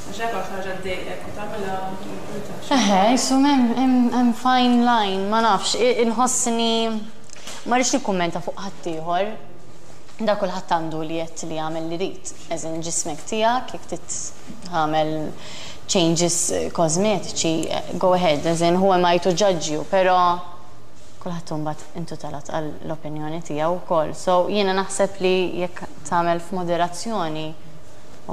Għax hekk hawn xi ħaġa ddejqek u tagħmilha ma timpurtax. Eħe, qisu hemm fine line, ma nafx, inħossni ma rridx nikkummenta fuq ħaddieħor. Da kulħadd għandu l-jedd li jagħmel li jrid. As in ġismek tiegħek, jekk trid tagħmel changes kosmetiċi, go ahead, as in who am I to judge you, però kulħadd hu mbagħad intitolat għall-opinjoni tiegħu wkoll. So jiena naħseb li jekk tagħmel f'moderazzjoni,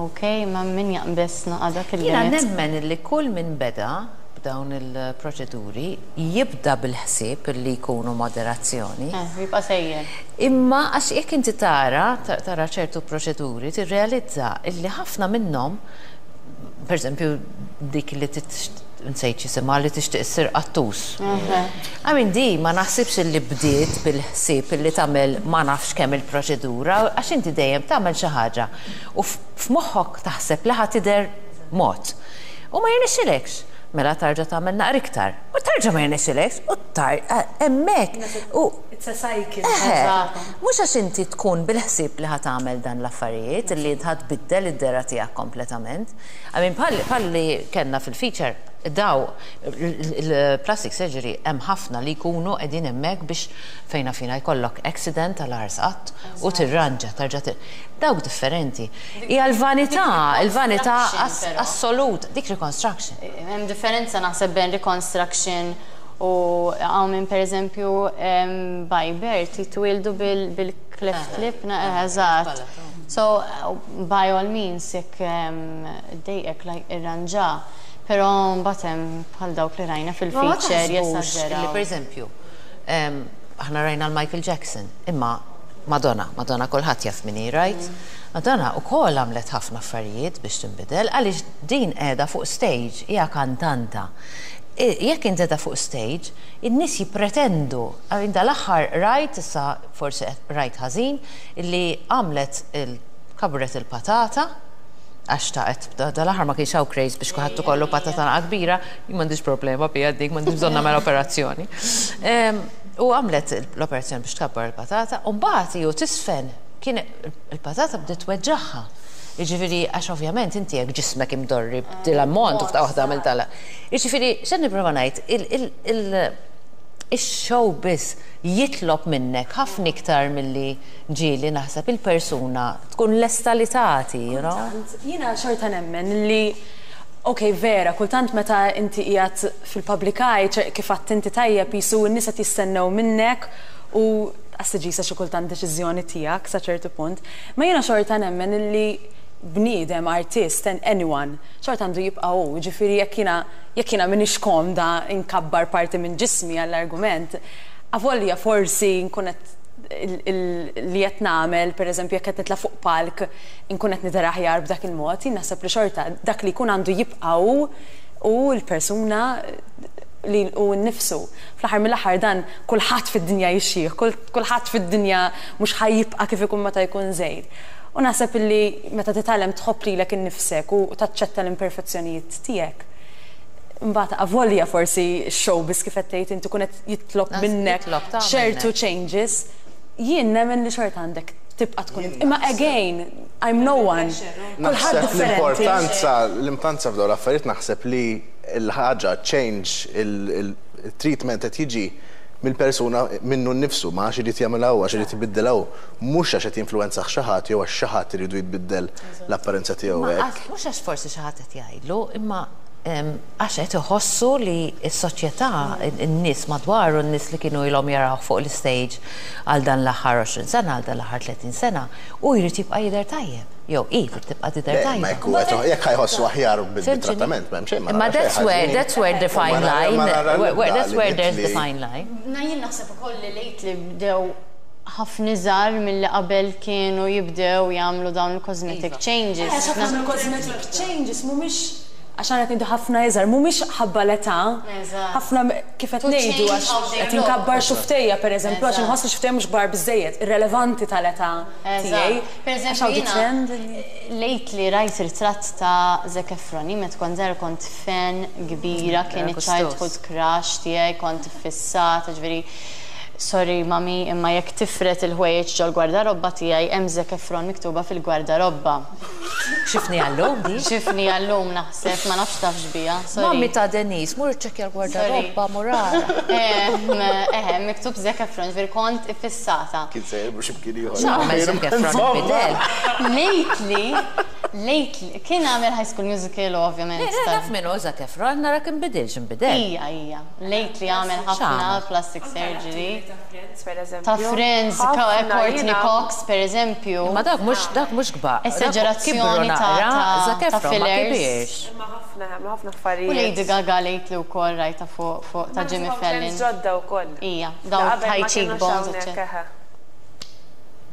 ok, ma min jaqbeż naqa' dak Jiena il-limit. nemmen illi kull min beda b'dawn il-proċeduri jibda bil-ħsieb illi jkunu moderazzjoni. Eh, jibqa' sejjer. Imma għax jekk inti tara, tara ċertu proċeduri, tirrealizza illi ħafna minnhom, per eżempju dik li nsejt x'isimha li tixtieq issir qattus. I mean di ma naħsibx illi bdiet bil-ħsieb illi tagħmel ma nafx kemm il-proċedura għax inti dejjem tagħmel xi ħaġa u f'moħħok taħseb li ħa tidher mod. U ma jirnexxilekx. Mela tarġa' tagħmel naqra iktar. U tarġa' ma jirnexxilekx u tar hemmhekk u It's a cycle. Eħe, mhux għax inti tkun bil-ħsieb li ħa tagħmel dan l-affarijiet li int ħa tbiddel id-dehra tiegħek kompletament. I mean bħal bħal li kellna fil-feature daw il-plastic surgery hemm ħafna li jkunu qegħdin hemmhekk biex fejn fina jkollok accident tal-ars qatt u tirranġa tarġa' dawk differenti. Hija l-vanità, il-vanità assoluta, dik reconstruction. Hemm differenza naħseb bejn reconstruction u hawn min pereżempju by birth jitwieldu bil-cleft lip, eżatt. So by all means jekk iddejqek irranġa, però mbagħad hemm bħal dawk li rajna fil-feature jesaġeraw. Li pereżempju, aħna rajna l-Michael Jackson, imma Madonna, Madonna kulħadd jaf min hi, right? Madonna wkoll għamlet ħafna affarijiet biex tinbidel għaliex din qiegħda fuq stage, hija kantanta. Jekk int qiegħda fuq stage, in-nies jippretendu, I mean dal-aħħar rajt, issa forsi rajt ħażin, illi għamlet kabret il-patata, għax xtaqet, dal-aħħar ma kienx hawn craze biex kulħadd ikollu patata naqa kbira, jien m'għandix problema biha dik, m'għandix bżonn nagħmel operazzjoni. U għamlet l-operazzjoni biex tkabbar il-patata, u mbagħad hi u tisfen kien il-patata bdiet tweġġagħha. Jiġifieri għax ovvjament inti jekk ġismek imdorri b'dil-ammont u f'daqqa waħda għamilt għala. Jiġifieri x'qed nipprova ngħid, ix-showbiz jitlob minnek ħafna iktar milli ġieli naħseb il-persuna tkun lesta li tagħti, you know? Kultant, jiena xorta nemmen li ok vera, kultant meta inti qiegħed fil-public eye, kif għedt inti tajjeb qisu n-nies qed jistennew minnek u qas tiġi xi kultant deċiżjoni tiegħek sa ċertu punt. Ma jiena xorta nemmen illi bniedem, artist, anyone, xorta għandu jibqa' hu, jiġifieri jekk jiena jekk jiena m'iniex komda nkabbar parti minn ġismi għall-argument, avolja forsi nkun qed li qed nagħmel, pereżempju jekk qed nitla' fuq palk inkun qed nidher aħjar b'dak il-mod, jien naħseb li xorta dak li jkun għandu jibqa' hu u l-persuna li hu nnifsu. Fl-aħħar mill-aħħar dan kulħadd fid-dinja jixjieħ, kulħadd fid-dinja mhux ħa jibqa' kif ikun meta jkun żgħir. U naħseb illi meta titgħallem tħobb lilek innifsek u taċċetta l-imperfezzjonijiet tiegħek, imbagħad avolja forsi x-showbiz kif qed tgħid inti ikun qed jitlob minnek ċertu changes, jien nemmen li xorta għandek tibqa' tkun int. Imma again, I'm no one. Kulħadd differenti. L-importanza, l-importanza f'dawn l-affarijiet naħseb li l-ħaġa change, il-treatment qed jiġi mill-persuna minnu nnifsu, ma għax irid jagħmilha hu, għax irid ibiddilha hu, mhux għax qed jinfluwenzah xi ħadd jew għax xi ħadd iridu jitbiddel l-apparenza tiegħu hekk. Mhux għax forsi xi ħadd qed jgħidlu, imma għax qed iħossu li s-soċjetà, in-nies madwaru, n-nies li kienu ilhom jarawh fuq l-istage għal dan l-aħħar 20 sena, għal dan l-aħħar 30 sena, hu jrid jibqa' jidher tajjeb. Jew hi trid tibqa' tidher tajba. Imma jekk jekk ħa jħossu aħjar bit-trattament m'hemm xejn. Imma that's where that's where the fine line that's where there's the fine line. Na jien naħseb ukoll li lately bdew ħafna iżgħar milli qabel kienu jibdew jagħmlu dawn il-cosmetic changes. Għax ħafna mill-cosmetic changes mhumiex għax aħna qed ngħidu ħafna iżgħar, mhumiex ħabba l-età. Ħafna kif qed ngħidu għax qed inkabbar xuftejja pereżempju għax inħoss li xuftejja mhux kbar biżżejjed, irrelevanti tal-età tiegħi. Per eżempju, jiena lately rajt ritratt ta' Zac Efron. Jien meta kont żgħira kont fan kbira, kien iċ-childhood crush tiegħi, kont iffissata, ġifieri sorry mummy imma jekk tifred il-ħwejjeġ ġol-gwardarobba tiegħi hemm Zac Efron miktuba fil-gwardarobba. Xifni għallum di? Xifni għallum naħseb, ma nafx tafx biha, sorry. Mummy ta' Denise, mur iċċekkja l-gwardarobba, mur ara. Eħe, miktub Zac Efron, ġifieri kont iffissata. Kien sejjer mhux imkien ieħor. X'għamel Zac Efron inbidel? Lately, lately, kien għamel High School Musical u ovvjament. Le, naf min hu Zac Efron, narak inbidilx, inbidel. Ija, ija. Lately għamel ħafna plastic surgery. Ta' Friends, per eżempju. Ta' Friends, Courteney Cox, per eżempju. Ma dak mhux dak mhux kbar. Esagerazzjoni ta' fillers. Imma ħafna, ħafna affarijiet. U Lady Gaga lately wkoll rajtha fuq ta' Jimmy Fallon. Ġodda wkoll. Ija, dawn high cheekbones, eċċetera.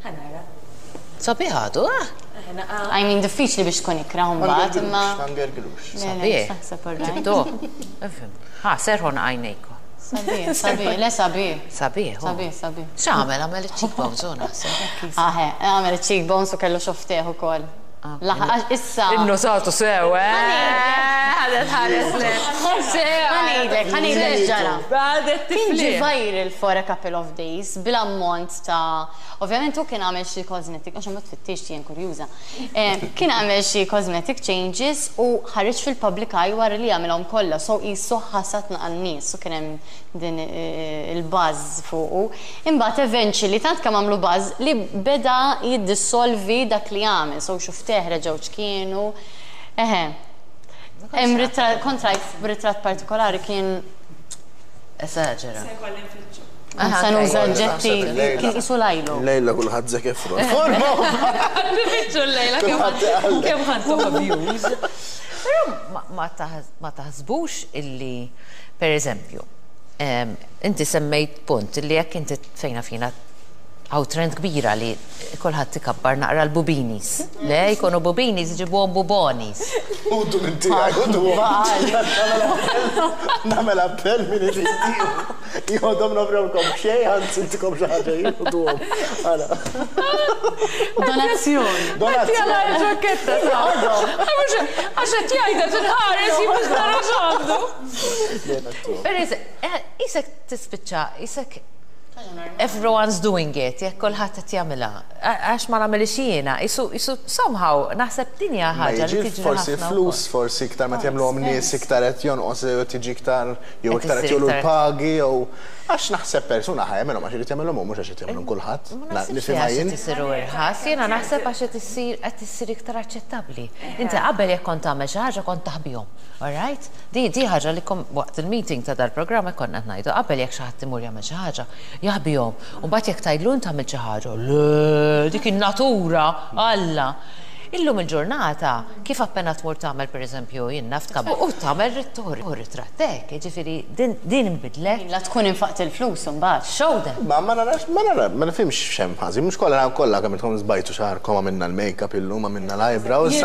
Ħa nara. Sabiħ għadu, eh? I mean, diffiċli biex tkun ikrah mbagħad, imma. Ma ngergrux. Sabiħ. Ġibtu. Ifhem. Ha, serħu għajnejkom. Sabiħ, sabiħ, le sabiħ. Sabiħ. Sabiħ, sabiħ. X'għamel? Għamel iċ-cheekbones u naħseb. Aħe, għamel iċ-cheekbones u kellu xofftejh ukoll. Laħaq issa. Innusatu sew, eh? Ħadet ħares le. Ħa ngħidlek, ħa ngħidlek x'ġara. Ħadet Kien ġie viral for a couple of days bil-ammont ta' ovvjament hu kien għamel xi cosmetic, għax imbagħad fittixt jien kurjuża. Kien għamel xi cosmetic changes u ħareġ fil-public eye wara li għamilhom kollha, so qisu ħasad naqa' n-nies u kien hemm din il-buzz fuqu. Imbagħad eventually tant kemm għamlu buzz li beda jiddissolvi dak li għamel, so xufteh reġgħu x'kienu. Eħe. Hemm ritratt, kont rajt ritratt partikolari kien Esaġera. Se jkolli nfittxu. Se nuża oġġetti kien qisu lajlu. Lejla kulħadd Zac Efron. Forma! Nfittxu l-lejla kemm ħadtu views. Però ma taħsbux illi, per eżempju, inti semmejt punt illi jekk inti fejna fina hawn trend kbira li kulħadd ikabbar naqra l-bubinis. Le, jkunu bubinis, iġibuhom bubonis. Udu minn tiegħi, udu. Nagħmel appell min irid jieħodhom nofrewlkom xejn, anzi ntikom xi ħaġa jieħduhom. Ara. Donazzjoni. Donazzjoni. ġaketta ta' Għax qed jgħidha tinħares jien mhux nara x'għandu. Isek tispiċċa, isek everyone's doing it, jekk kulħadd qed jagħmilha. Għax ma nagħmilx jiena, isu isu somehow naħseb din hija ħaġa li tiġri Forsi flus, forsi iktar ma jagħmluhom nies iktar qed jonqos jew tiġi iktar jew iktar qed jogħlu l-pagi jew għax naħseb persuna ħa jagħmilhom għax irid jagħmilhom u mhux għax qed jagħmilhom kulħadd. Ma naħsibx li għax qed isiru irħas, jiena naħseb għax qed issir qed issir iktar aċċettabbli. Inti qabel jekk kont tagħmel xi ħaġa kont taħbihom. All right? Di di ħaġa li kom waqt il-meeting ta' dal-programm hekk konna qed ngħidu, qabel jekk xi ħadd imur jagħmel xi ħaġa, jaħbihom. U mbagħad jekk tgħidlu int għamilt xi ħaġa, le, dik in-natura, Alla. Illum il-ġurnata, kif appena tmur tagħmel pereżempju jien naf tkabbar u tagħmel ritratt hekk, jiġifieri din din inbidlet. La tkun infaqt il-flus imbagħad. Show them. Ma ma narax, ma nara, ma nifhimx x'hemm ħażin, mhux kollha kollha kemm intkom żbajtu xagħarkom għamilna l-makeup illum għamilna l-eyebrows,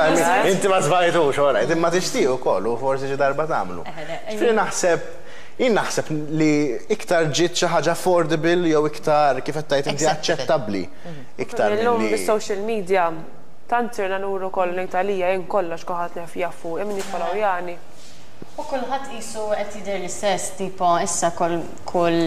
inti ma żbajtux, all right, imma tixtieq ukoll u forsi xi darba tagħmlu. Ġifieri naħseb, jien naħseb li iktar ġiet xi ħaġa affordable jew iktar kif qed tgħid inti aċċettabbli iktar Illum milli. bis-social media. Tant sirna nuru kollu ngħid għalija jien kollox kulħadd jaf jaf fuqi min jiffollowjani. U kulħadd qisu qed jidher l-istess, tipo issa kull kull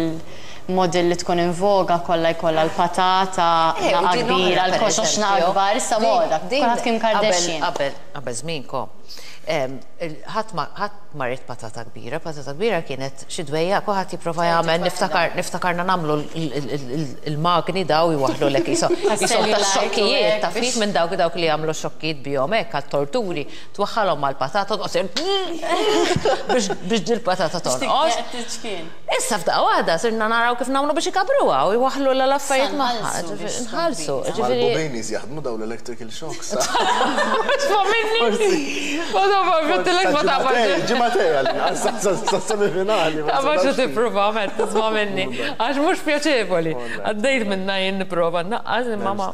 model li tkun in voga kollha jkollha l-patata Eh, u naqa din oħra kbira, per l-koxox naqa eżempju. kbar, issa Din moda, din kulħadd Kim qabel Kardashian. qabel qabel żmienkom ħadd ma ħadd ma ried patata kbira, patata kbira kienet xi dwejjaq kulħadd jipprova jagħmel niftakar niftakarna nagħmlu l-magni daw jwaħħlulek qishom qishom tax-xokkijiet taf kif minn dawk dawk li jagħmlu x-xokkijiet bihom hekk għat-torturi twaħħalhom mal-patata toqgħod biex biex dil-patata tonqos. Issa f'daqqa waħda sirna naraw kif nagħmlu biex ikabbruha u jwaħħlulha l-affarijiet magħha. Nħallsu. Ġifieri. Mal-Bobinis jaħdmu dawn l-electrical shocks. Isma' minni! Ma tafx, għedtilek ma tafx. Ġimgħatej għal-inqas, sas-semifinali. Tafx u tipprova, met, tisma' minni. Għax mhux pjaċevoli. Għaddejt minnha jien nipprova nnaqqas imma ma.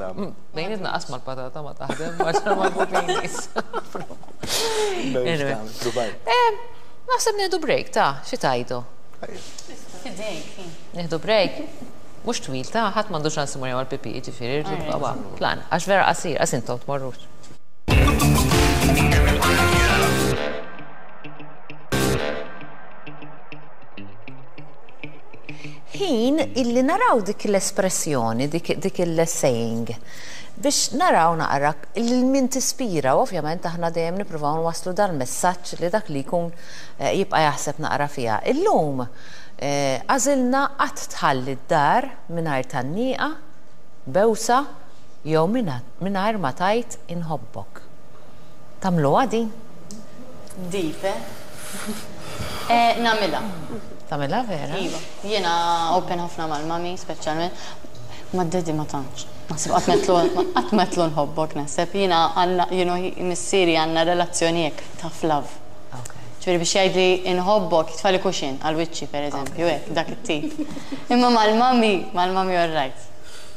Bejn nitnaqqas mal-patata ma taħdem, għax mal-Bobinis. Naħseb nieħdu break, ta' xi tgħidu? Fidejk. Nieħdu break? Mhux twil, ta' ħadd m'għandu ċans imur jagħmel pipi, jiġifieri rridu nibqgħu plan, għax vera qasir, qas intom tmorrux. Ħin illi naraw dik l-espressjoni, dik il-saying, biex naraw naqra lil min tispira u ovvjament aħna dejjem nippruvaw nwasslu dal-messaġġ li dak li jkun jibqa' jaħseb naqra fiha. Illum għażilna qatt tħalli d-dar mingħajr tgħanniqa, bewsa jew mingħajr ma tgħid inħobbok. Tagħmluha din? Deep, eh? Eh, nagħmilha. Tagħmilha vera? Iva. Jiena open ħafna mal-mami, speċjalment. Mad-daddy ma tantx. Naħseb qatt m'għedtlu qatt m'għedtlu nħobbok naħseb. Jiena għandna, you know, missieri għandna relazzjoni hekk, tough love. Ġifieri biex jgħidli inħobbok, jitfagħli cushion għal wiċċi pereżempju, hekk, dak it-tip. Imma mal-mami, mal-mami all right.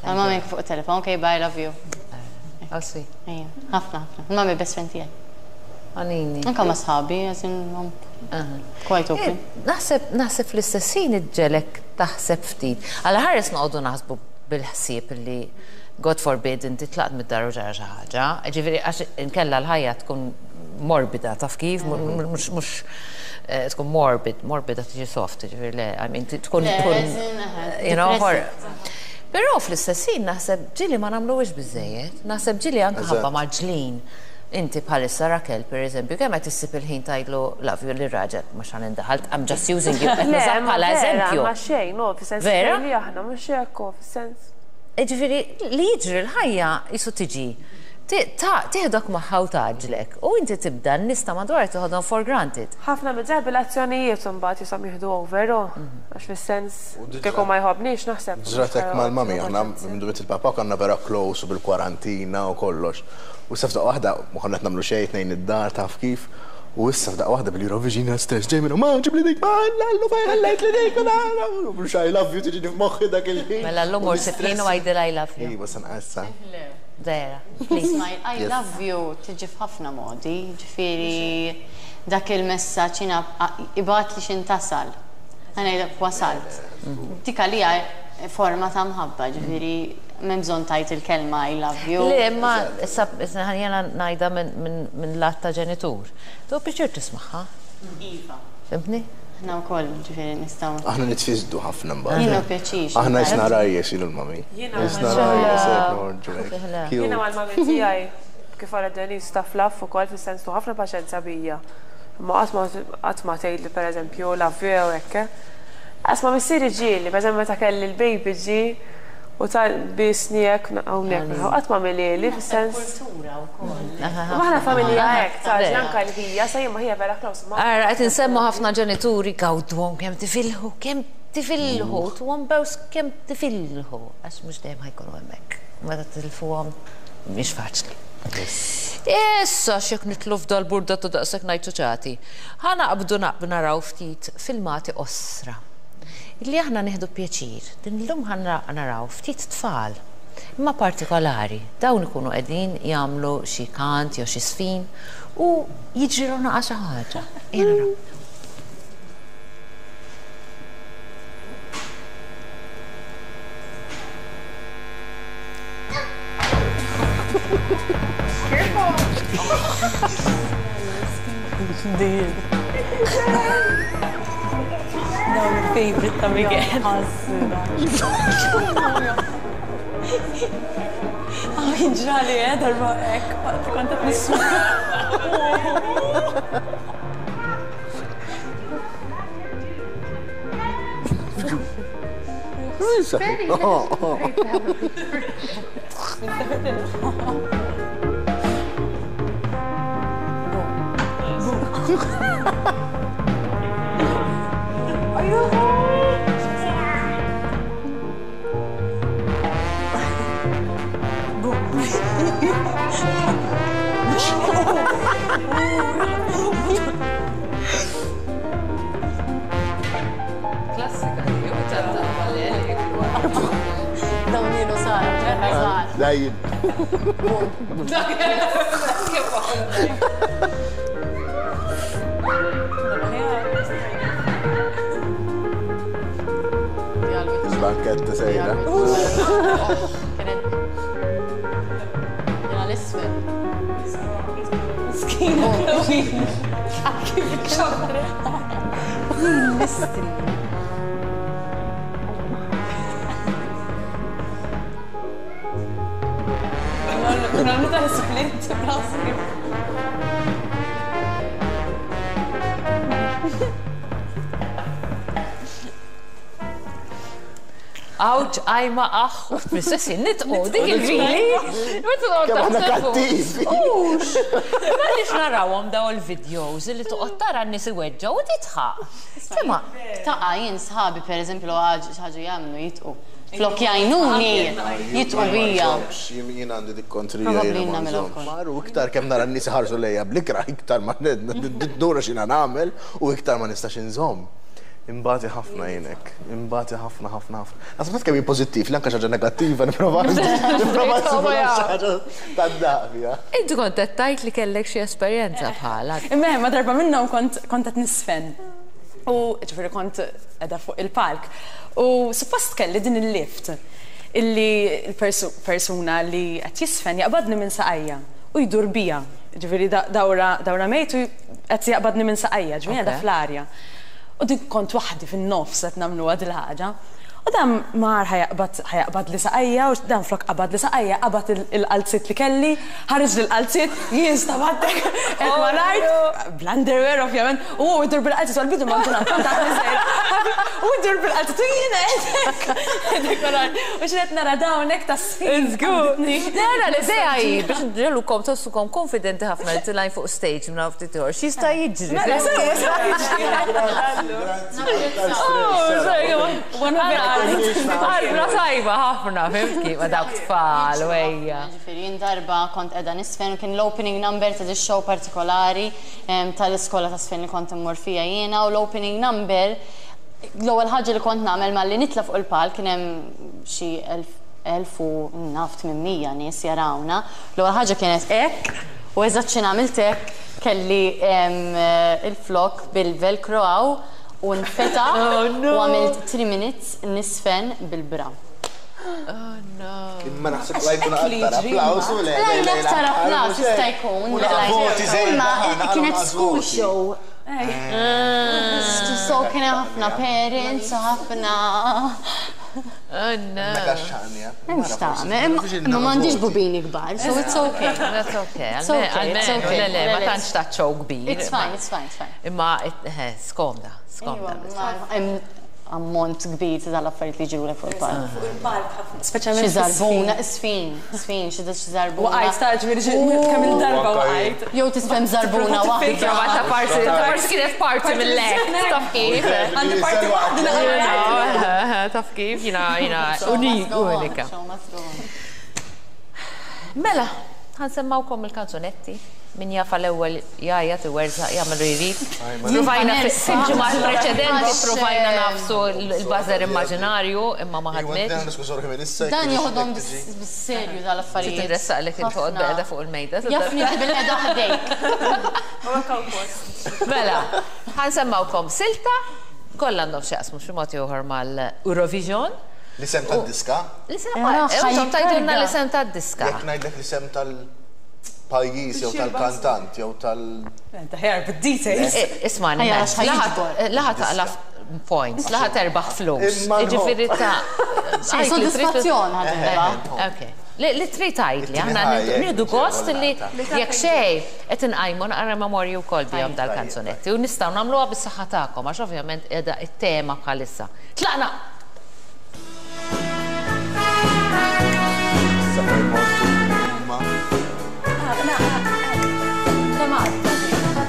Mal-mami anke fuq it-telefon, okay bye, love you. How sweet. Ejja, ħafna ħafna. Il-mami best friend tiegħi. Għanini. Anke ma' sħabi, as in, quite open. Naħseb, naħseb fl-istess ħin iġġegħlek taħseb ftit. Alla ħares noqogħdu naħsbu bil-ħsieb li God forbid inti tlaqt mid-dar u ġara xi ħaġa. Ġifieri għax inkella l-ħajja tkun morbida, taf kif? Mhux mhux tkun morbid, morbida tiġi soft, ġifieri le, I mean tkun tkun you know, Però fl-istess ħin naħseb ġieli ma nagħmluhiex biżżejjed. Naħseb ġieli anke ħabba mgħaġġlin. Inti bħalissa Raquel, per eżempju, kemm qed issib il-ħin tgħidlu love you lir-raġel, mhux ħa nindaħal, I'm just using you qed nużak bħala eżempju. Le, ma xejn, no, fis-sens Vera? li aħna mhux hekk, fis-sens. Jiġifieri li jiġri l-ħajja qisu tiġi tieħdok magħha u tgħaġġlek u inti tibda n-nies ta' madwarek toħodhom for granted. Ħafna mid-drabi l-azzjonijiet imbagħad jisom jieħdu over, oh, għax fis-sens kieku ma jħobbnix naħseb. Ġrat hekk mal-mami, aħna minn miet il-papa konna vera close u bil-kwarantina u kollox. U issa f'daqqa waħda ma konna qed nagħmlu xejn tnejn id-dar taf kif. U issa f'daqqa waħda bil-Eurovision jien stress ġej minn ma ġibli dik ma lallu fejn ħallejt li dik u mhux I love you tiġini f'moħħi dak il-ħin. Mela llum mur sib ħin u għidilha I love you. Iva se nqassa. Vera, please. I love you tiġi f'ħafna modi, ġifieri dak il-messaġġ jiena ibgħatli x'int tasal. Ħa ngħidlek wasalt. Dik għalija forma ta' mħabba, ġifieri m'hemm bżonn tgħid il-kelma I love you. Le, imma issa jiena ngħidha minn lat ta' ġenitur. Tieħu pjaċir tismagħha. Iva. Fhimtni? Aħna wkoll, ġifieri nistgħu. Aħna nitfisdu ħafna mbagħad. Jien pjaċir. Aħna jisna rajjes jien u l-mami. Jisna rajjes hekk noħorġu hekk. Jiena mal-mami tiegħi kif qalet Denise taf love ukoll fis-sens tu ħafna paċenzja bija. Imma qatt ma qatt ma tgħidli pereżempju love you jew hekk. Qas ma missieri ġieli, pereżempju meta kelli l-baby ġie u ta' biesni hekk hawnhekk, qatt ma għamilhieli fis-sens. Kultura wkoll. Imma aħna familja hekk, taf, anke l-ħija, sa jien ma ħija vera close ma. Ara, qed insemmu ħafna ġenituri gawduhom kemm tifilħu, kemm tifilħu, tuhom bews kemm tifilħu, għax mhux dejjem ħa jkunu hemmhekk. Meta titilfuhom mhix faċli. Issa x'jekk nidħlu f'dal-burdata daqshekk ngħid ċuċati. Ħa naqbdu naraw ftit filmati qosra. Illi aħna nieħdu pjaċir. Din illum ħa naraw ftit tfal, imma partikolari. Dawn ikunu qegħdin jagħmlu xi kant jew xi żfin u jiġrilhom naqa' xi ħaġa. Ejja naraw. Dawn il-favorite ta' Miguel. Ah, kien ġrali, eh, darba hekk, waqt li kont qed nisma'. Klassika li ju Dawn ilu sar, ġerra sar. Dajjin. Il-banketta sejra. Kienet. Jena l-isfel. Miskina Chloe. Kif ċabret. Mistri. Nagħmlu ta' split rasi. Awċ, għajma, aħ, u fl-istess ħin nitqu, dik il-fili. Kemm aħna kattivi. Ux, għaliex narawhom daw il-videos li toqgħod tara n-nies iweġġgħu u titħaq. Sema, Taqa' jien sħabi per eżempju l ħaġa ħaġa jagħmlu jitqu. Flok jgħinuni jitqu bija. Jien għandi dik kontrija. Probabbli jiena ma nagħmilha nżommx. wkoll. Mar u iktar kemm nara n-nies iħarsu lejja bl-ikrah iktar ma ndura x'jiena nagħmel u iktar ma nistax inżomm. Imbati ħafna jien hekk. Imbati ħafna ħafna ħafna. Naħseb taf kemm hi pożittiv li anke xi ħaġa negattiva nipprova nipprova nsibha xi ħaġa tad-daqq fiha. Inti kont qed tgħid li kellek xi esperjenza bħala. Imma ma darba minnhom kont kont qed nisfen. U ġifieri kont qiegħda fuq il-palk. U suppost kelli din il-lift illi l-persuna li qed jisfen jaqbadni minn saqajja u jdur bija. Ġifieri dawra dawra mejt u qed jaqbadni minn saqajja, ġifieri qiegħda fl-arja. U dik kont waħdi fin-nofs qed nagħmluha dil-ħaġa. U dan mar ħa jaqbad ħa jaqbadli saqajja u dan flok qabadli saqajja qabad il-qalziet li kelli, ħareġ l-qalziet, jien stabattek qed mal-art, bl-underwear ovvjament, u hu jdur bil-qalziet u għall-bidu ma nkun kont għadni żgħira. U jdur bil-qalziet u jien qed hekk qed mal-art. U x'qed nara dawn hekk tas-sfin. Żgur. Nara l-idea hi biex nġegħlukom tħossukom konfidenti ħafna li tilgħin fuq stage minn hawn ftit ieħor. X'jista' jiġri? Mela sewa sewa jiġri. Qalbna tajba ħafna, fhimt kif? Ma dawk tfal u ejja. Ġifieri jien darba kont qiegħda nisfen u kien l-opening number ta' show partikolari tal-iskola ta' sfen li kont immur fija jiena u l-opening number l-ewwel ħaġa li kont nagħmel malli nitla' fuq il-palk kien hemm xi 1800 nies jarawna. L-ewwel ħaġa kienet hekk u eżatt xi għamilt hekk kelli il-flok bil-velcro hawn u nfetaħ u għamilt 3 minutes nisfen bil-bra. Oh no. Imma naħseb la jkun aktar applaws u le. La aktar applaws jista' jkun. Imma kienet school show. So kien hemm ħafna parents u ħafna. Oh no. Mhux tagħmel, imma m'għandix bubini kbar, so it's okay. That's okay. It's okay, it's Almenu, okay. le, le, ma tantx ta' show kbir. It's fine, it's fine, it's fine. Imma, skomda, skomda. Hemm ammont kbir ta' dal-affarijiet li ġirulek fuq il-palk. Fuq il-palk ħafna. Speċjalment Xi żarbuna, sfin, sfin, xi xi żarbuna. Waqajt ta' ġifieri xi kemm il-darba waqajt. Jew tisfem żarbuna waħda. Prova ta' parti, ta' parti kienet parti mill-lek, taf kif. Għandi parti waħda naqra. Taf kif, jina, jina, unika. Mela, ħa nsemmgħukom il-kanzunetti. Min jafa l-ewwel jgħajjat iwerżaq jagħmlu jrid. Provajna fil-ġimgħat preċedenti provajna nagħfsu l-buzzer immaġinarju imma ma ħadmitx. Dan joħodhom bis-serju dal-affarijiet. Tinressaqlek intoqgħod bilqiegħda fuq il-mejda. Jafni bilqiegħda ħdejk. Mela, ħa nsemmgħukom silta, kollha għandhom x'jaqsmu xi mod ieħor mal-Eurovision. L-isem tad-diska? L-isem, intom tgħidulna l-isem tad-diska. Jekk ngħidlek l-isem tal- Tal-pajjiż jew tal-kantant jew tal. Ħjar bid-details. Isma' laħa taqla' points, laħa terbaħ flus. Jiġifieri ta' Sodisfazzjon ħa terbaħ. Ok. Li trid tgħidli, aħna nieħdu gost li jekk xejn qed inqajmu naqra memorji wkoll bihom dal-kanzunetti u nistgħu nagħmluha bis-saħħa tagħkom għax ovvjament qiegħda t-tema bħalissa. Tlaqna!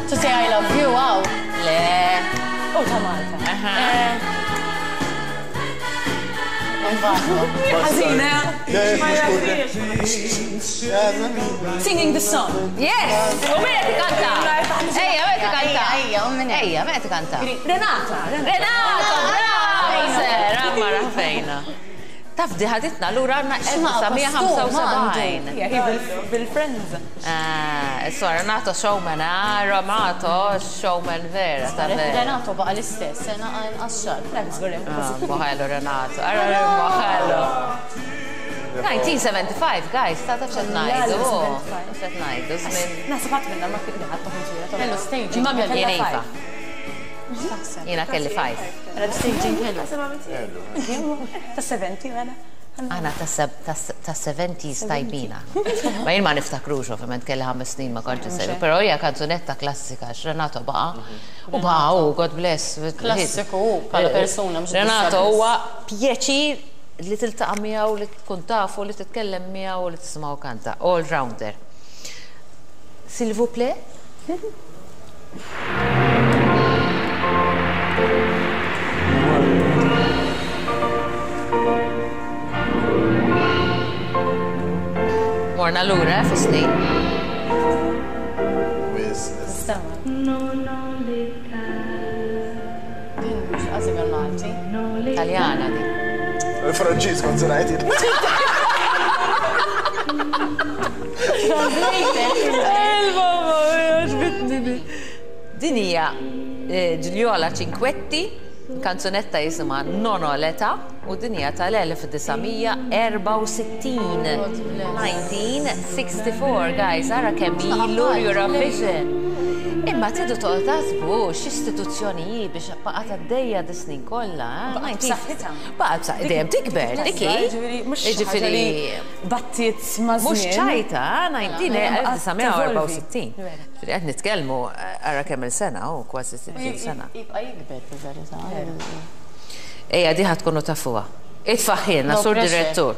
To say I love you, wow. Le. U ta' Malta. Ħażina. Singing the song. Yes! U min qed ikanta? Ejja, min qed ikanta? Ejja, u min Ejja, min qed ikanta? Renata. Renata, bravo! Sera, ma rafejna. Taf di ħaditna lura għandna 1975. Hija bil-friends. Ah, so Renato showman, ah, Renato showman vera, ta' vera. Renato baqa l-istess, sena inqas xahar. Ah, Moħelu Renato, ara moħelu. 1975, guys, ta' taf xed ngħidu. Taf xed ngħidu, żmien. Naħseb ħadd minna ma kien ħadd toħroġ Kellu staging. Imma Jien iva. X'taħseb? Jiena kelli 5. Staging kellu. Ta' 70 mela. Aħna ta' 70s tajbina. Ma jien ma niftakrux, ovvjament kelli 5 snin ma kontx insegwi, però hija kanzunetta klassika għax Renato baqa' u baqa' u God bless. Klassiku hu bħala persuna mhux Renato huwa pjaċir li tiltaqa' miegħu, li tkun tafu, li titkellem miegħu u li tisimgħu kanta. All rounder. S'il vous plaît? Morna lura eh, fis-snin. Din mhux qasib Malti. Taljana din. Il-Franċiż kont se ngħid. Il-mamma għoġbitni di. Din hija Gigliola Cinquetti, kanzunetta jisimha Non ho l'età u din hija tal-1964. 1964, guys, ara kemm ilu Eurovision. Imma tridu toqgħod taħsbu x'istituzzjoni hi biex baqgħet għaddejja dis-snin kollha. Eh? Baqgħet b'saħħitha. Baqgħet b'saħħitha, dejjem tikber, dik hi. Jiġifieri battiet ma' Mhux ċajta, 1964. Ġifieri qed nitkellmu ara kemm il-sena u kważi 60 sena. Jibqa' jikber fil-verità. Ejja, di ħa tkunu tafuha. Itfaħħilna, No sur pressure. direttur.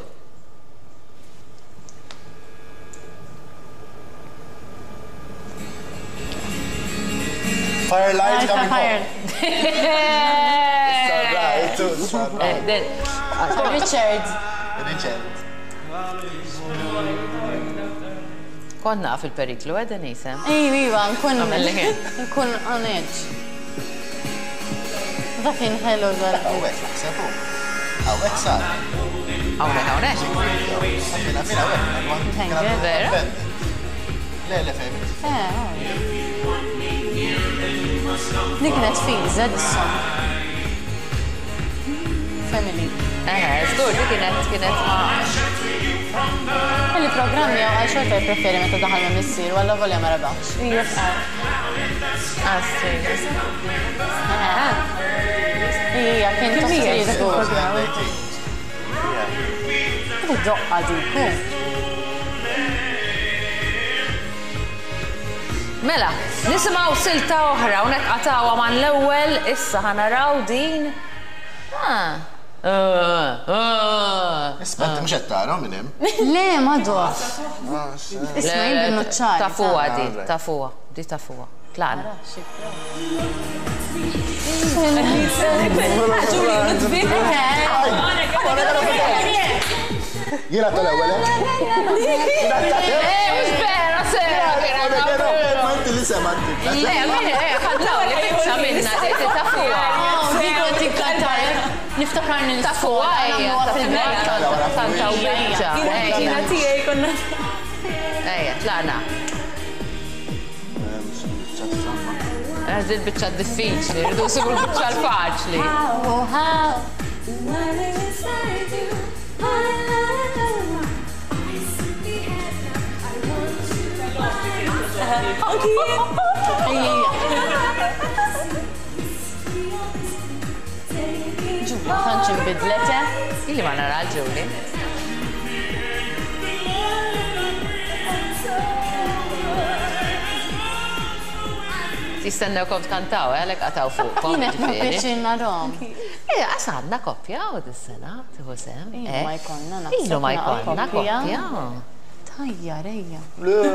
Firelight coming Fire. home. Right, it's all right. Richard. Richard. Kont naf il-periklu, eh, Denise? Ejwa, iva, nkun. Għamel li kien. Nkun on edge. Dak kien ħelu dal. Hawnhekk naħseb hu. Hawnhekk sar. Hawnhekk, hawnhekk. Fina, fina, hawnhekk. Vera? Le, le, fejn. Dik kienet fiża dis-song. Family. Eh, żgur, di kienet kienet ma' Kelli programmi jew għal xorta jippreferi meta daħal ma' missier u alla volja ma rebaħx. Assi. Ija, kien tossir żgur. Doqqa dik. hu. Mela, nisimgħu silta oħra u qatgħuha man l-ewwel issa ħa naraw din. Ah. Isma' inti mhux qed tara minn hemm. Le, ma dof. Isma' jien bin-nuċċari. Tafuha di, tafuha, di tafuha. Tlaqna. Jiena tal-ewwel. Eh, mhux vera, sera, Ma inti li sema inti. Le, min, ħadlaw li biċċa minna, di tafuha. Dik kont ikkantar. Niftakarni Tafuha, ejja, tafuha. Kantaw biċċa. Jiena tiegħi konna. Ejja, tlaqna. Għax din biċċa diffiċli, rridu nsibu l-biċċa l-faċli. How, how. Anki jien. Ejja. Ġulia, tantx inbidlet, eh? Ili ma nara Julie. Jistennewkom tkantaw, eh, għalhekk qataw fuqkom. Jien qed ġifieri. pjaċir narahom. Eh, għas għandna koppja u dis-sena, tieħu sem. Ilu eh. ma jkollna, naħseb Ilu ma naqa' jkollna koppja. koppja. Tajja, rejja. Le, le,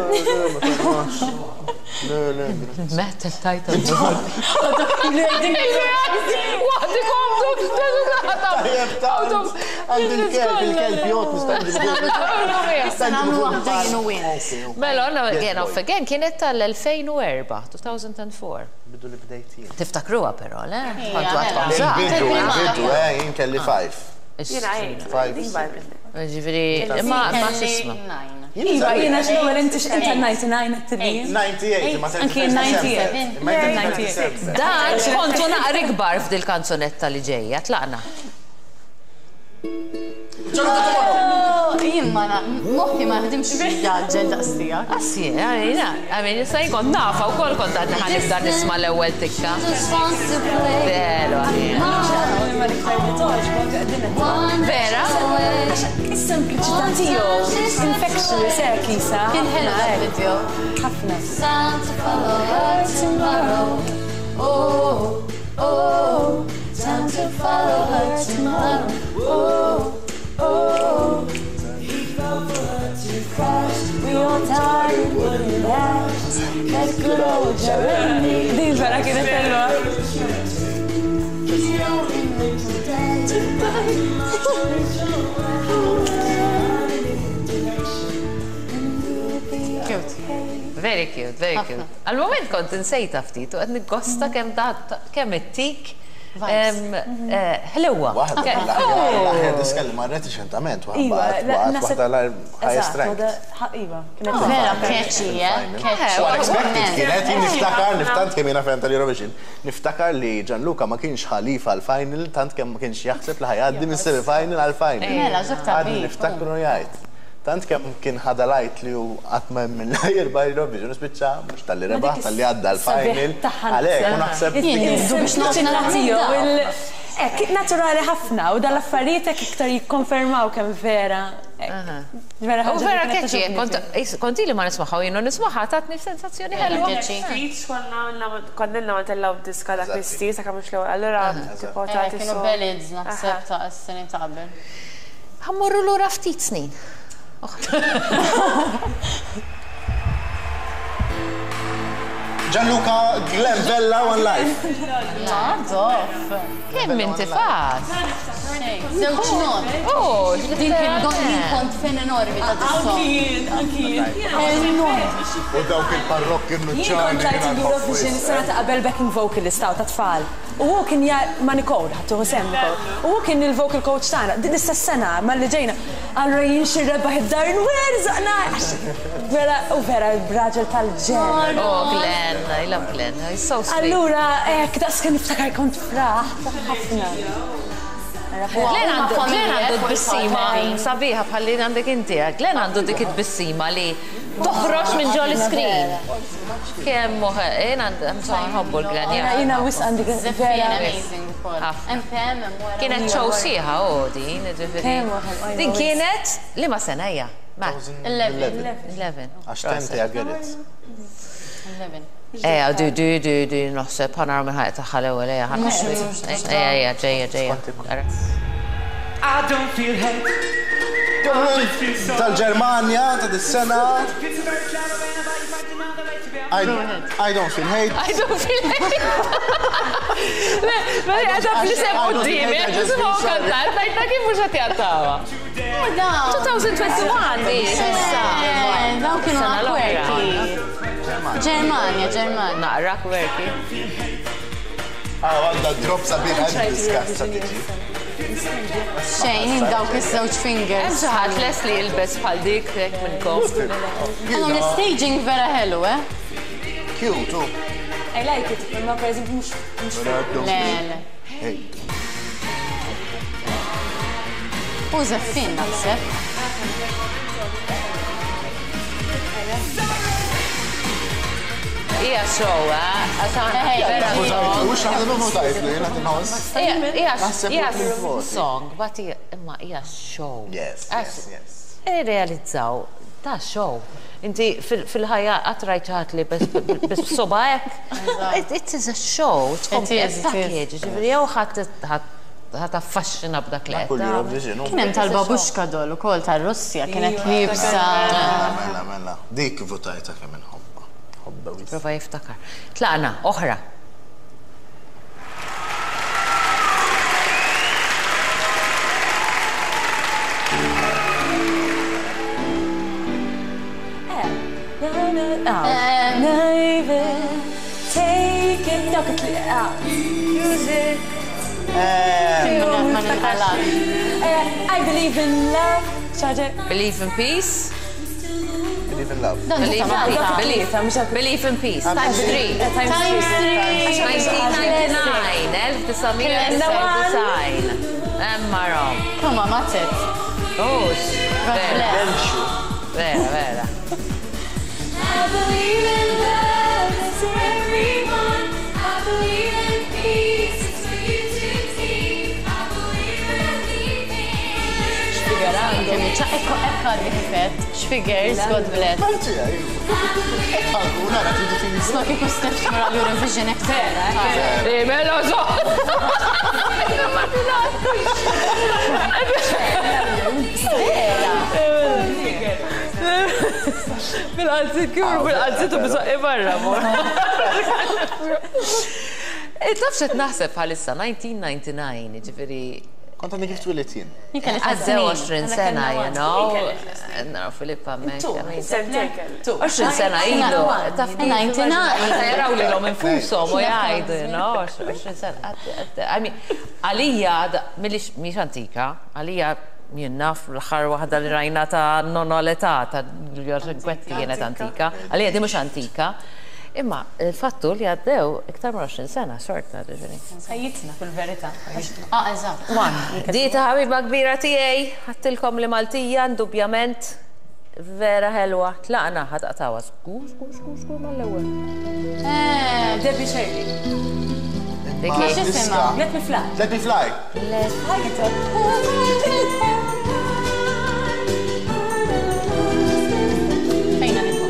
ma tagħnax. Le, le. Meta tajta. Waħdi komdu, Tajjeb, tant. Għandi l-kelb, il-kelb jgħod nista' Issa nagħmlu waħda jien u int. Mela, għanna again off again kienet tal-2004, 2004. Bidu li bdejt jien. Tiftakruha però, le? Ija, Kontu għadkom mela. żgħar. Il-bidu, il-bidu, eh, jien kelli five. Jiena għejt. Five. Ġifieri, ma ma x'isma. Kelli nine. Iva, jiena x'l-ewwel inti inta 99 qed 98, ma Anki 98. Ma 97. Dan kontu naqri kbar f'dil kanzunetta li ġejja, tlaqna. Jien ma na- moħħi ma jaħdimx jaġġel daqs tiegħek. Assi, għalina, għamin, issa jien kont nafa u kol kont għadni ħanibda nisma l-ewwel tikka. Just wants to play. Vero, għalina. Ma l-iktar li toġbok din qed Vera? Is-sempliċità tiegħu infectious hekk isa. Kien ħelu dal-video. Ħafna. Time to follow her tomorrow. Oh, oh, time to follow her tomorrow. Oh, oh. We all tired, wouldn't last. That good old Jeremy. Din vera kienet ħelwa. Cute. Very cute, very cute. Għal-moment kont insejta ftit u qed niggosta kemm da kemm it-tik ħlewa. Waħda l-aħjar diska li marret riċentament, Iva, waħda l-highest ranked. Iva, kienet Vera catchy, eh? Catchy. So unexpected kienet, jien niftakar, niftant kemm jiena fan tal-Eurovision, niftakar li Gianluca ma kienx ħalifa għal-final, tant kemm ma kienx jaħseb li ħa jgħaddi mis-semi-final għal-final. Mela, ġok ta' Għadni bif. niftakru jgħid. Tant kemm kien ħada lajt li hu qatt ma minn jirbaħ Eurovision, spiċċa mhux talli rebaħ, talli għadda l-final. Għalhekk, u naħseb Jien dik jizzu biex Is-sempliċità tiegħu naqna Ek, naturali ħafna u dal-affarijiet hekk iktar jikkonfermaw kemm vera. hekk. Vera U ħaġa li vera kienet catchy, togħġobni. kont ili ma nismaħħa u jienu nismaħħa tatni sensazzjoni ħelwa. Catchy. Speech konna ma tellaw diska dak l-istil, sa mhux l-ewwel. Allura tipo ta' Kienu ballads naħseb ta' s-snin ta' qabel. Ħa mmorru lura ftit snin. Gianluca Glenn Vella One Life. Nadof. Kemm inti fast? Żewġ not. Oh, Din kien jien kont fan enormi ta' dis-song. Anki jien, anki jien. Enormi. U dawk il-parrokki Jien kont tlajt il-Eurovision is-sena ta' qabel backing vocalist ta' tfal. U hu kien ja ma' Nicole, ħattu sem Nicole. U hu kien il-vocal coach tagħna. Din istess sena malli ġejna. Allura jien xi rebaħ id-dar nwerżaqna. Vera, u vera raġel tal-ġen. Oh, Glenn, I love Glenn. He's so sweet. Allura, hekk, daqs kien niftakar kont fraħt ħafna. Glenn għandu Glenn għandu tbissima sabiħa bħalli għandek inti. eh. Glenn għandu dik it-tbissima li toħroġ minn ġol screen. Kemm moħ, jien għandu nħobbu l-Glenn. Jiena jiena wisq għandi Żeffien vera. amazing ukoll. Ħafna. MPM hemm wara. Kienet show sieħa u din, ġifieri. Kemm waħel, Din kienet li ma sena hija? Ma, 11. 11. Għax tenti għagħerit. 11. Eja, di, di, di, di, naħseb ħa naraw minn ħajja tagħha l-ewwel, eja, ħa Eja, eja, ġejja, ġejja. Ara. I don't feel hate. Don't feel sorry. Tal-Ġermanja ta' dis-sena. I don't feel hate. I don't feel hate. Le, ma għadha fl-isem qudiemi, nisimgħu kantat, ngħidna kif mhux qed jgħattawa. 2021 di, issa. Dawn kienu Sena l-oħra. quirky. Ġermanja, Ġermanja. Naqra quirky. Ah, għandha drop sabiħ għandi diskassa tiġi. Xejn, dawk iż-żewġ Hemm fingers. xi ħadd les li jilbes bħal dik hekk minnkom. Għandhom l-staging vera ħelu, eh? Cute, u. I like it, imma per eżempju mhux mhux Le, le. Hate. U żeffin naħseb. Hija show, eh? Għax aħna vera Votajtlu, mhux naħseb votajtlu, jiena tinħoss. Hija Naħseb hija li voti. song, but hija imma hija show. Yes, Għax yes, yes. Irrealizzaw, ta' show. Inti fil-ħajja qatt rajt xi ħadd li bes b'soba hekk. It is a show, it's It is, it is. package. Ġifieri jew ħadd ħadd affaxxina b'dak li qed Kull tagħmel. Eurovision. Kien hemm tal-babushka doll ukoll tar-Russja kienet liebsa. Mela, mela. Dik votajta kemm inħobba. Ħobba wis. Prova jiftakar. Tlaqna, oħra. Take it, dawk it-tliqa. Music. Ma ninqalax. I believe in love. ċaġe. Believe in peace. Believe in love. Believe in peace. Believe, Mhux għal- believe in peace. Times 3. Times Times three. 1999, 1999. Emma rom. Come on, matet. Ux, God vera, bless. vera, vera. I believe in love, it's for everyone. I believe in peace, it's for you to keep. I believe in leaving. Ekko, ekko għadni kifet. Xfigures, God bless. Malti, għu, nara, tridu tini. Sma kieku Steph tmur għal Eurovision ek vera. Mela, zo! Bil-qalzit, kif bil-qalzit u bizoqqi barra, mor. Taf xed naħseb bħalissa, 1999, ġifiri, Kont għandi kif twilit jien. għaddew 20 sena, you know. Naraw Filippa mek. Sentejn kelli. 20 sena ilu. Taf kif 99. Meta jaraw li l-om infushom u jgħidu, you know, 20 sena. I mean, għalija, millix mhix antika, għalija jien naf l-aħħar waħda li rajna ta' nonno l-età ta' Giulio Cinquetti kienet antika, għalija di mhux antika. Imma il-fattu li għaddew iktar minn 20 sena, xorta, ġifieri. Ħajjitna fil-verità. Ah, eżatt. Di ta' ħabiba kbira tiegħi, ħattilkom li Maltija, indubjament, vera ħelwa. Tlaqna ħatqtawa. Żgur, żgur, żgur, żgur mal-ewwel. Debbie Shirley. Dik Ma hi. diska. Let me fly. Let me fly. Fejna nikun.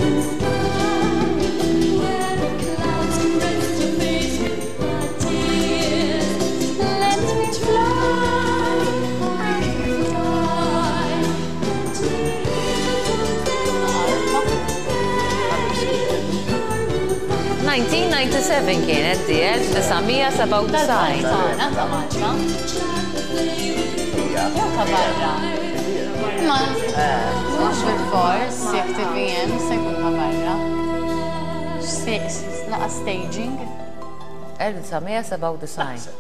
Let me fly, fly. Let me 1997 kienet di 1997. Tagħna ta' Malta. Jew ta' barra. Ma mhux bil-fors jekk TVM se jkun ta' barra. Naqa staging. 1997.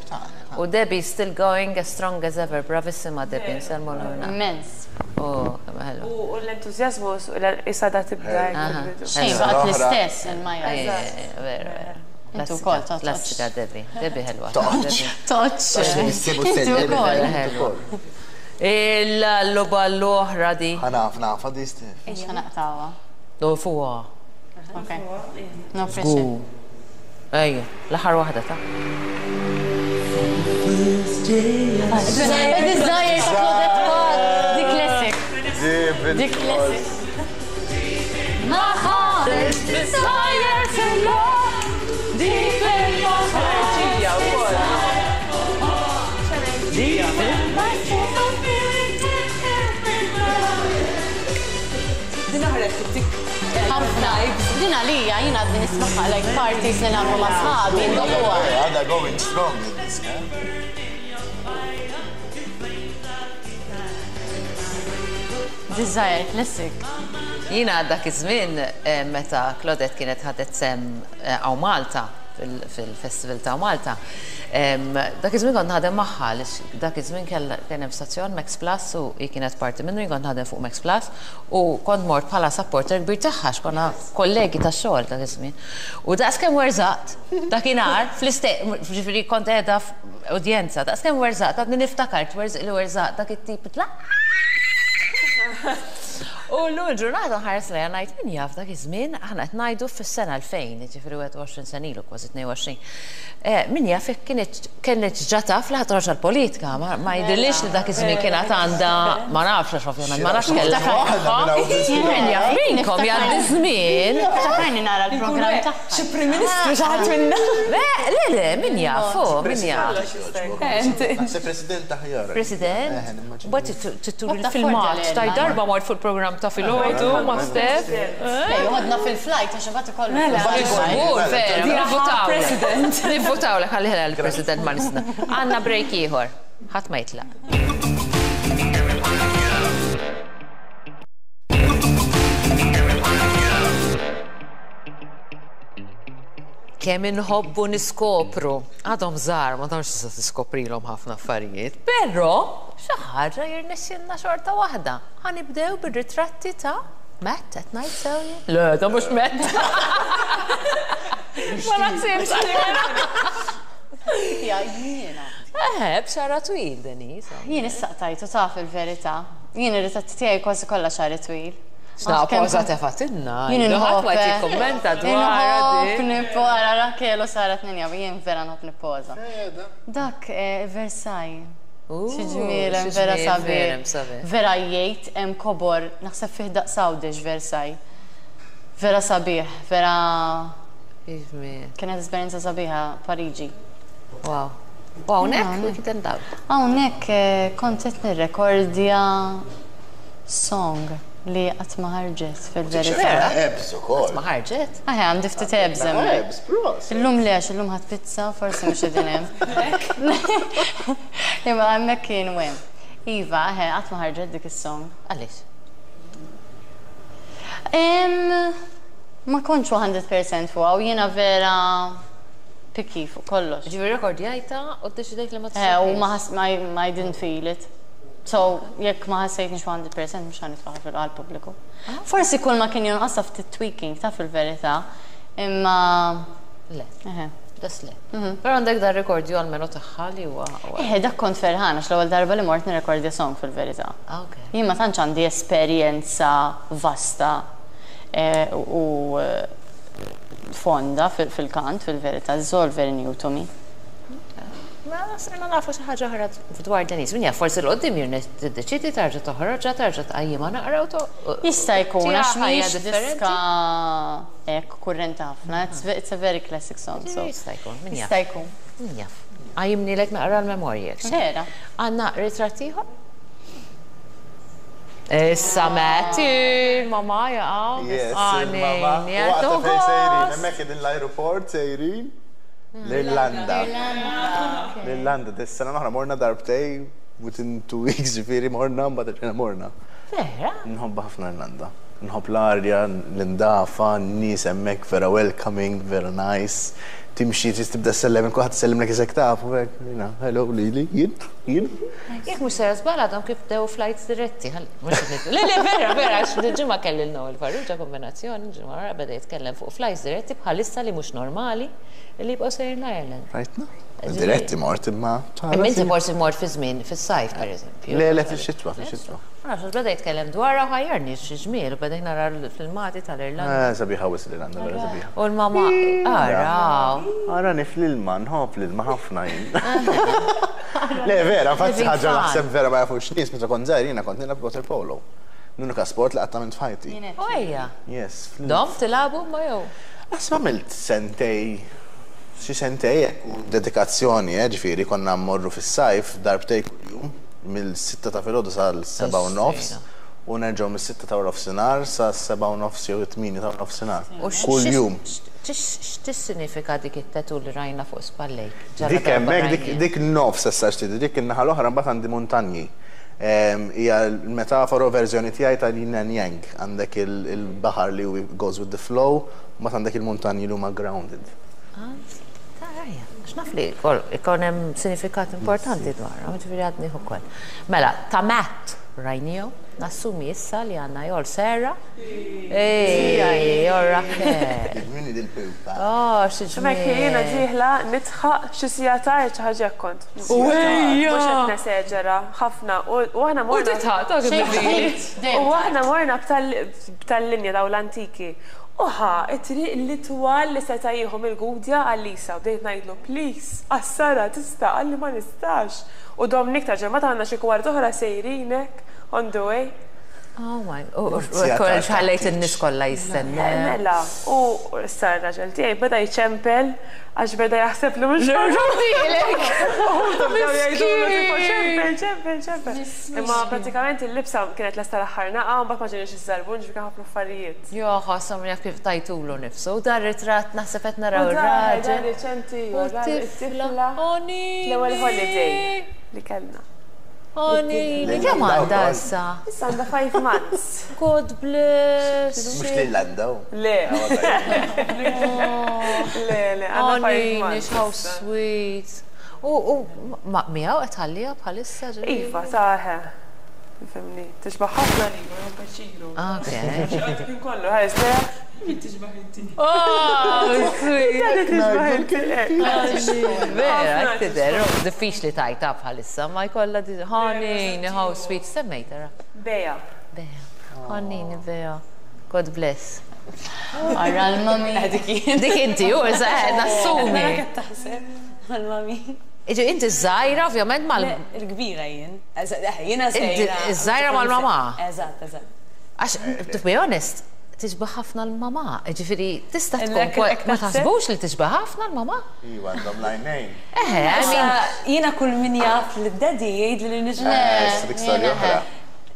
U Debbie still going as strong as ever. Bravissima Debbie, nselmu l-ħuna. Immens. Oh, kemm ħelwa. U l-entuzjazmu issa da tibda. Aha. Xejn Ħelwa. baqgħet L-oħra. l-istess il-Maja. Vera, vera. Intu wkoll toqgħodx. Klassika Debbie. Debbie ħelwa. Toqgħodx. Debbie. Toċ. Intu wkoll. Vera ħelwa. Il-loba l-oħra di. Ħanaf, naf, għaddi Steph. Ix ħanaqtawa. Do fuqa. Ok. No pressure. Ejja, l-aħħar waħda ta' A Desire ta' Claudette Paul. Di classic. Di classic. My heart is desire to love deep in my heart. Deep in my soul, I'm feeling every breath. Din aħret tik. Ħafna. Din għalija jien għadni nismaħħa like parties li nagħmlu ma' sħabi ndoqquha. Għada going strong id-diska. Desire classic. Jina dak iż-żmien meta Claudette kienet ħadet sem għaw Malta fil-festival ta' Malta. Dak iż-żmien kont naħdem magħha għaliex dak iż-żmien kien hemm stazzjon Max Plus u hi kienet parti minnu, jien kont naħdem fuq Max Plus u kont mort bħala supporter kbir tagħha għax konna kollegi tax-xogħol dak iż-żmien. U daqskemm werżaqt dakinhar fl-istess, ġifieri kont qiegħda f'udjenza, daqskemm werżaqt għadni niftakar li werżaqt dak it-tip. U llum il-ġurnata nħares lejha ngħid min jaf dak iż-żmien, aħna qed ngħidu fis-sena 2000, jiġifieri 21 sena ilu, kważi 22. Min jaf jekk kienet ġa taf li ħa toħroġ għall-politika, ma jidhirlix li dak iż-żmien kien għad għandha, ma nafx għax ovvjament ma nafx kellha f'moħħha. Min jaf minnkom jgħaddi ż-żmien. Niftakarni nara l-programm tagħha. Xi Prim Ministru xi ħadd minna. Le, le, le, min jaf, hu, min jaf. Naħseb President aħjar. President? Mbagħad trid turi l-filmat. Taj darba mort fuq il-programm ta' filgħodu ma' Steph. Le, joħodna fil-flight għax imbagħad ikollu. Mela. Żgur, vera. Nivvutawlek. President. Nivvutawlek ħalli ħela l-President ma' nisna. Għandna break ieħor. Ħadd ma jitlaq. Kemm inħobbu niskopru. Għadhom żgħar, ma tantx tista' tiskoprilhom ħafna affarijiet, però xi ħaġa jirnexxielna xorta waħda. Ħa nibdew bir-ritratti ta' Matt, qed ngħid sew jien? Le, ta' mhux Matt. Ma naħsibx li vera. Ja, jiena. Eħe, b'xara twil, Denise. Jien issa qtajtu taf il-verità. Jien ir-ritratti tiegħi kważi kollha xagħri twil. X'na poża tefatilna. Jien Ħadd ma inħobb. jikkummenta dwar Inħobb nippoża Raquel u Sara tnejn jien vera nħobb nippoża. Dak Versailles. Xi ġmiel hemm vera sabiħ. Vera jgħid hemm kobor, naħseb fih daqs Għawdex Versailles. Vera sabiħ, vera. Kienet esperjenza sabiħa Pariġi. Wow. U hawnhekk kif dawl? Hawnhekk kont qed nirrekordja song li qatt ma ħarġet fil-verità. Abs ukoll. Qatt ma ħarġet? Aħe, għandi ftit abs hemmhekk. Abs, prosit. Illum le għax illum ħadt pizza, forsi mhux qegħdin hemm. Imma hemmhekk kienu hemm. Iva, aħe, qatt ma ħarġet dik is-song. Għaliex? Ma kontx 100% fuqha u jiena vera picky fuq kollox. Ġifieri rekordjajta u ddeċidejt li ma Eh, u ma ma I didn't feel it. So, jekk ma ħassejtnix 100% mhux ħa nitfaħħa fil-għall-pubbliku. Forsi kull ma kien jonqasha ftit tweaking ta' fil-verità, imma. Le. Eħe. Das le. Però għandek dar rekordju almenu tagħha li huwa. Eħe, dak kont ferħana għax l-ewwel darba li mort nirrekordja song fil-verità. Jien ma tantx għandi esperjenza vasta u fonda fil-kant fil-verità, it's all very new to me. Mela sirna nafu xi ħaġa oħra dwar Denise. Min jaf forsi 'l quddiem jirne tiddeċiedi tarġa' toħroġha, tarġa' tqajjimha naqra u to. Jista' jkun għax mhijiex diska hekk kurrenti ħafna. It's a very classic song. So. Jista' jkun, min jaf. Jista' jkun. Min jaf. Qajjimnilek naqra l-memorji hekk. Vera. Għandna ritratt ieħor? Issa Matty, il-mamà jaqgħu. Yes, il-mamà. Waqt fejn sejrin, hemmhekk qegħdin l-ajruport sejrin. L-Irlanda. L-Irlanda, dis-sena l-oħra morna darbtej within two weeks ġifieri morna mbagħad erġajna morna. Vera? Nħobbha ħafna l-Irlanda. Nħobb l-arja, l-indafa, n-nies hemmhekk vera welcoming, vera nice. Timxi trid tibda ssellem, kulħadd isellimlek isek taf u hekk, jiena, hello lili, jien, jien. Jekk mhux sejra żball għadhom kif bdew flights diretti, mhux qed Le, le, vera, vera, għax dil-ġimgħa kelli l-Noel Farrugia kombinazzjoni, ġimgħa wara beda jitkellem fuq flights diretti bħalissa li mhux normali li jibqgħu sejrin l-Ireland. Rajtna? Diretti mort imma. Imma inti forsi mort fi żmien fis-sajf pereżempju. Le, le, fix-xitwa, fix-xitwa. Ma nafx, għax beda jitkellem dwarha u ħajjarni xi ġmiel u beda nara l-filmati tal-Irlanda. Eh, sabiħa wisq l-Irlanda, vera sabiħa. U l-mama, araw. Arani fl-ilma, nħobb l-ilma ħafna jien. Le, vera, infatti ħaġa naħseb vera ma jafux nies meta kont żgħir jiena kont nilgħab water polo. L-unika sport li qatt għamilt f'ħajti. U ejja. Yes. Dom tilagħbu ma jew? Naħseb għamilt sentej, xi sentej hekk u dedikazzjoni, eh, ġifieri konna mmorru fis-sajf darbtejn kuljum mill-sitta ta' filgħodu sal-sebgħa u nofs u nerġgħu mis-sitta ta' waranofsinhar sas-sebgħa u nofs jew it-tmienja ta' waranofsinhar. Kuljum. X'tissinifika dik it-tattoo li rajna fuq spallejk? Dik hemmhekk, dik nofs issa x'tidhi, dik in-naħa l-oħra mbagħad għandi muntanji. Hija l-metafora u verżjoni tiegħi tal-yin and yang. Għandek il-baħar li goes with the flow, u mbagħad għandek il-muntanji li huma grounded. Tara, għax naf li ikun hemm sinifikat importanti dwarhom, ġifieri għadnih ukoll. Mela, ta' Matt. Rajnihom, nassumi issa li għandna jol Sarah. Ej, jol Raquel. Min dil-pupa? Oh, xi ġmiel. Hemmhekk jiena dieħla nidħaq xi siegħa tard xi ħaġa hekk kont. Ejja! Mhux qed neseġera, ħafna. U aħna U morna. titħaq, ta' kif bil-lili. U aħna morna b'tal-linja dawn l-antiki. U ħa t-triq l-itwal li seta' jieħu mill-Gudja għal-Lisa u bdejt ngħidlu please, qassarha tista' qalli ma nistax. U domni iktar ġemgħat għandna xi kwart oħra sejrin hekk on the way. Oh my, u ħallejt in-nies kollha jistennew. Mela, u issa r-raġel tiegħi beda jċempel għax beda jaħseb li mhux Ġurdilek! Ċempel, ċempel, ċempel. Imma pratikament il-libsa kienet lesta l-aħħar naqa' u mbagħad ma ġiniex iż-żarbun ġifieri kien ħafna affarijiet. Jo, ħossom jaf kif tajtulu nifsu. U dar ritratt naħseb qed naraw U dar ir-raġel. riċenti, U u dar t-tifla. it-tifla. Onini. L-ewwel holiday li kellna. Onini, kemm għandha issa? Issa għandha 5 months. God bless. Mhux l-Irlanda. Le. Le, le, għandha 5 Onini, months. how sweet. U miegħu qed tħalliha bħalissa ġifieri? Iva, saħe. Fimni, tixbaħ ħafna li, ma paċilu. Ok. Kien kollu, ħares, le, min tixbaħ inti? Oh, sweet. Tadi tixbaħ inti. Vera, tidher, diffiċli tajta bħalissa, ma jkollha di. Honey, how sweet, semmejta ra. Bea. Bea. Honey, Bea. God bless. Arra l-mami. Dik inti, u issa nassumi. Nara qed taħseb mal-mami. Iġi, inti żgħira ovvjament mal. Il-kbira jien. Jiena Inti żgħira. żgħira mal-mamà. Eżatt, eżatt. Għax, to be honest, tixbaħ ħafna l-mamà. Ġifieri, tista' tkun Hekk- hekk ma taħseb? taħsbux li tixbaħ ħafna l-mamà? Iva, għandhom l-għajnejn. Eħe, I mean, Jiena kull min jaf li d-daddy jgħid li nixbaħ. Eh, dik storja oħra.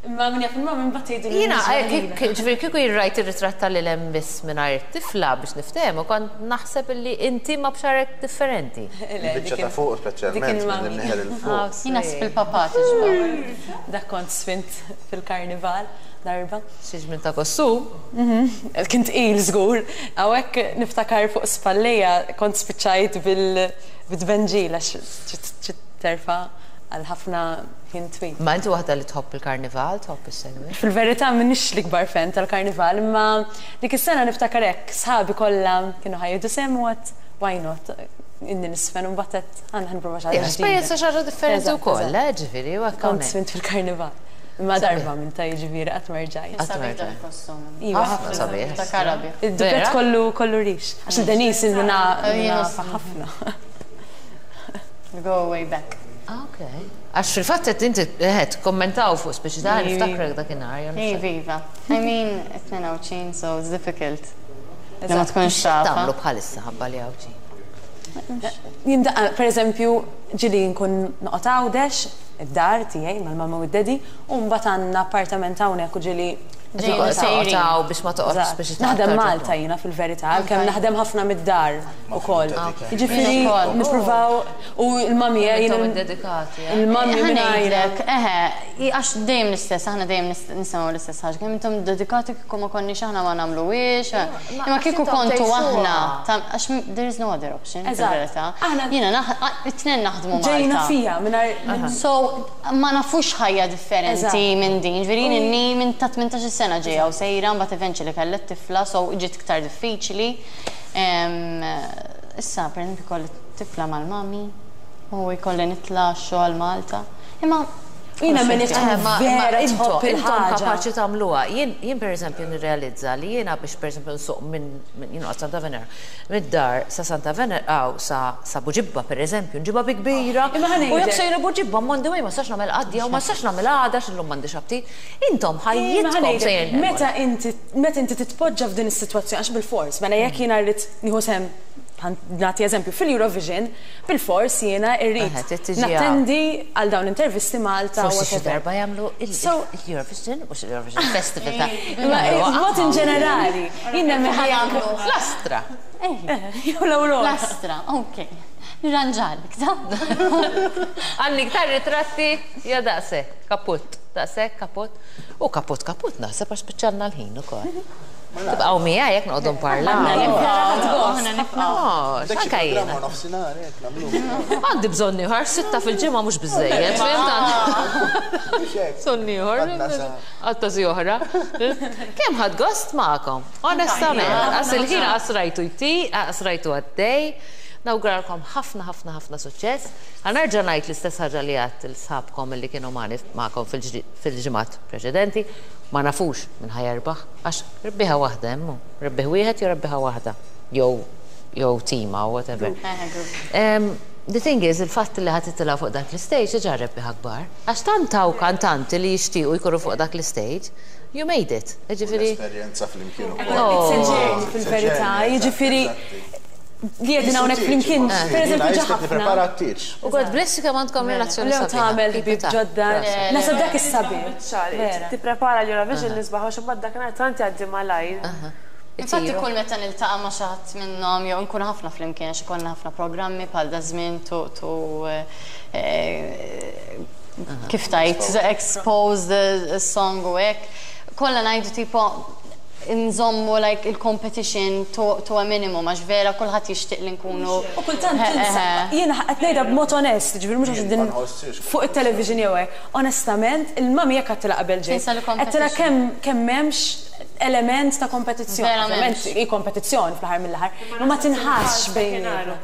Imma min jaf il-mamma mbagħad jgħidu li Jiena, nixbaħ lilha. ġifieri kieku jirrajt ir-ritratt tal-ilem biss mingħajr it-tifla biex niftehmu, kont naħseb illi inti ma b'xarek differenti. Le, Il-biċċa dik ta' il- fuq dik speċjalment il-mami. minn imnieħer il fuq. Jiena fil-papà tixbaħ. Dak kont sfint fil-karnival darba. Xi żmien ta' kostum. Kien tqil żgur. Hawnhekk niftakar fuq spallejja kont spiċċajt bil-tbenġil għax terfa għal ħafna ħin twil. Ma inti waħda li tħobb il-karnival, tħobb is-segwi. Fil-verità m'iniex l-ikbar fan tal-karnival, imma dik is-sena niftakar hekk sħabi kollha kienu ħa jieħdu sehem u għedt why not? Inni nisfen u mbagħad għedt ħa nipprova xi ħaġa Esperjenza xi ħaġa differenti Eżatt, wkoll, eżatt. eh, ġifieri, u hekk Kont hawnhekk. sfint fil-karnival. Imma darba minn ta' jiġifieri qatt ma rġajt. Qatt ma Sabiħ rġajt. dak il-kostum. Iva, Ħafna sabiħ. Ta' karabi. Id-dubet Vera? kollu kollu rix. Għax il-Denise ilna Jiena nafa ħafna. We go way back. Ah, Ok. Għax fil-fatt qed inti qed kommentaw fuq speċi ta' niftakrek dakinhar. jew niftakar. Iva, iva. I mean, it-tnejn Għawdxin, so it's difficult. Li ma tkunx tafa. Tagħmlu bħalissa ħabba li Għawdxin. Jien daqqa, per eżempju, ġieli nkun noqgħod Għawdex, id-dar tiegħi mal-mamma u d-daddy, u mbagħad għandna appartament hawnhekk u ġieli Ġejjin u sejrin. Taw biex ma toqgħodx biex Naħdem Malta jiena fil-verità, għalkemm naħdem ħafna mid-dar ukoll. Jiġifieri Jien ukoll. nippruvaw u l-mami Intom jien iddedikati. eh? il-mami Ħa mingħajr. ngħidlek, eħe, għax dejjem l-istess, aħna dejjem nisimgħu l-istess ħaġa, kemm intom dedikati kieku ma konniex aħna ma nagħmluhiex, imma kieku intom kontu tgħixuha. aħna, għax there is no other option, Eżatt. fil-verità. Aħna- Jiena it-tnejn naħdmu Ġejna Malta. fija mingħajr So, ma nafux ħajja differenti Eżatt. minn din, ġifieri jien inni minn ta' 18 sena ġejja u sejra, mbagħad eventually kellha tifla, so ġiet iktar diffiċli. Issa, per esempio, kolli tifla mal-mami u jkolli nitla xogħol Malta. Imma Jiena minn Eh, tkun ma vera intom tħobb intom il-ħaġa. kapaċi tagħmluha. Jien pereżempju nirrealizza li jiena biex pereżempju nsuq minn jien noqgħod Santa Venera, mid-dar sa Santa Venera aw sa sa Buġibba pereżempju, nġibha bi kbira. Imma ħa U jekk ngħidlek- sejra Buġibba m'għandi way ma sax nagħmel qadja u ma sax nagħmel għada x'illum m'għandix aptit. Intom Imma ħa ħajjitkom ngħidlek, sejrin. Meta inti meta inti titpoġġa f'din is-sitwazzjoni għax bil-fors, mela jekk jiena rrid nieħu sehem nagħti eżempju fil-Eurovision, bil-fors jiena irrid Aha, trid tiġi nattendi għal dawn l-intervisti Malta. Forsi xi whatever. darba jagħmlu il-Eurovision mhux il-Eurovision Festival ta' Imma mod in ġenerali, jien nemmen jagħmlu L-Astra. jew l-Aurora. Lastra, ok. Nirranġalik, ta? Għandi iktar ritratti, ja daqsek, kaput, daqsek, kaput. U kaput, kaput, naħseb għax spiċċalna l-ħin ukoll. Tibqgħu miegħi jekk noqogħdu nparlaw. Anke jiena. Għandi bżonn ieħor, sitta fil-ġimgħa mhux biżejjed, fhimt? Bżonn ieħor. Għatta si oħra. Kemm ħadt gost magħkom, onestament. Qas il-ħin qas rajtu jti, qas rajtu għaddej. Nawguralkom ħafna ħafna ħafna suċċess. Ħa nerġa' ngħid l-istess ħaġa li għedt lil sħabkom li kienu magħkom fil-ġimgħat preċedenti. Ma nafux min ħa jerbaħ, għax rebbieħa waħda hemm hu. Rebbieħ wieħed jew rebbieħa waħda. Jew jew tima or whatever. The thing is, il-fatt li ħa titilgħu fuq dak l-istage diġà rebbieħa kbar. Għax tant hawn kantanti li jixtiequ jkunu fuq dak l-istage, you made it. Jiġifieri. L-esperjenza flimkien ukoll. It's a journey fil-verità, jiġifieri li qegħdin hawnhekk flimkien, pereżempju ġa ħafna. Nipprepara t-tieġ. U God bless you kemm għandkom relazzjoni sabiħa. Tagħmel ħbieb ġodda. Naħseb dak is-sabiħ. Tipprepara l-Eurovision l-isbaħ għax imbagħad dakinhar tant jgħaddi malajr. Infatti kull meta niltaqa' ma' xi ħadd minnhom jew inkunu ħafna flimkien għax ikollna ħafna programmi bħal daż-żmien to to kif tgħid expose the song u hekk, kollha ngħidu tipo nżommu like il-competition to to a minimum għax vera kulħadd jixtieq li nkunu U kultant tinsa, jiena qed ngħidha b'mod onest, jiġifieri mhux għax din fuq it-television jew hekk, onestament il-mummy hekk għedtilha qabel ġejt. Għedtilha kemm kemm m'hemmx element ta' kompetizzjoni. Ovvjament hi kompetizzjoni fl-aħħar mill-aħħar, imma ma tinħassx bejnietna.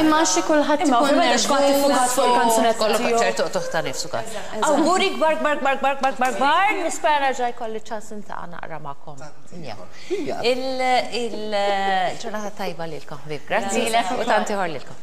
Imma għax kulħadd ikun nervuż. Imma fuq il-kanzunetta. Kollok ċertu qtugħ ta' nifs ukoll. Awguri kbar kbar kbar kbar kbar kbar kbar, nispera nerġa' jkolli ċans niltaqa' naqra magħkom. Il-ġurnata tajba lilkom ħbieb. Grazzi u tant ieħor lilkom.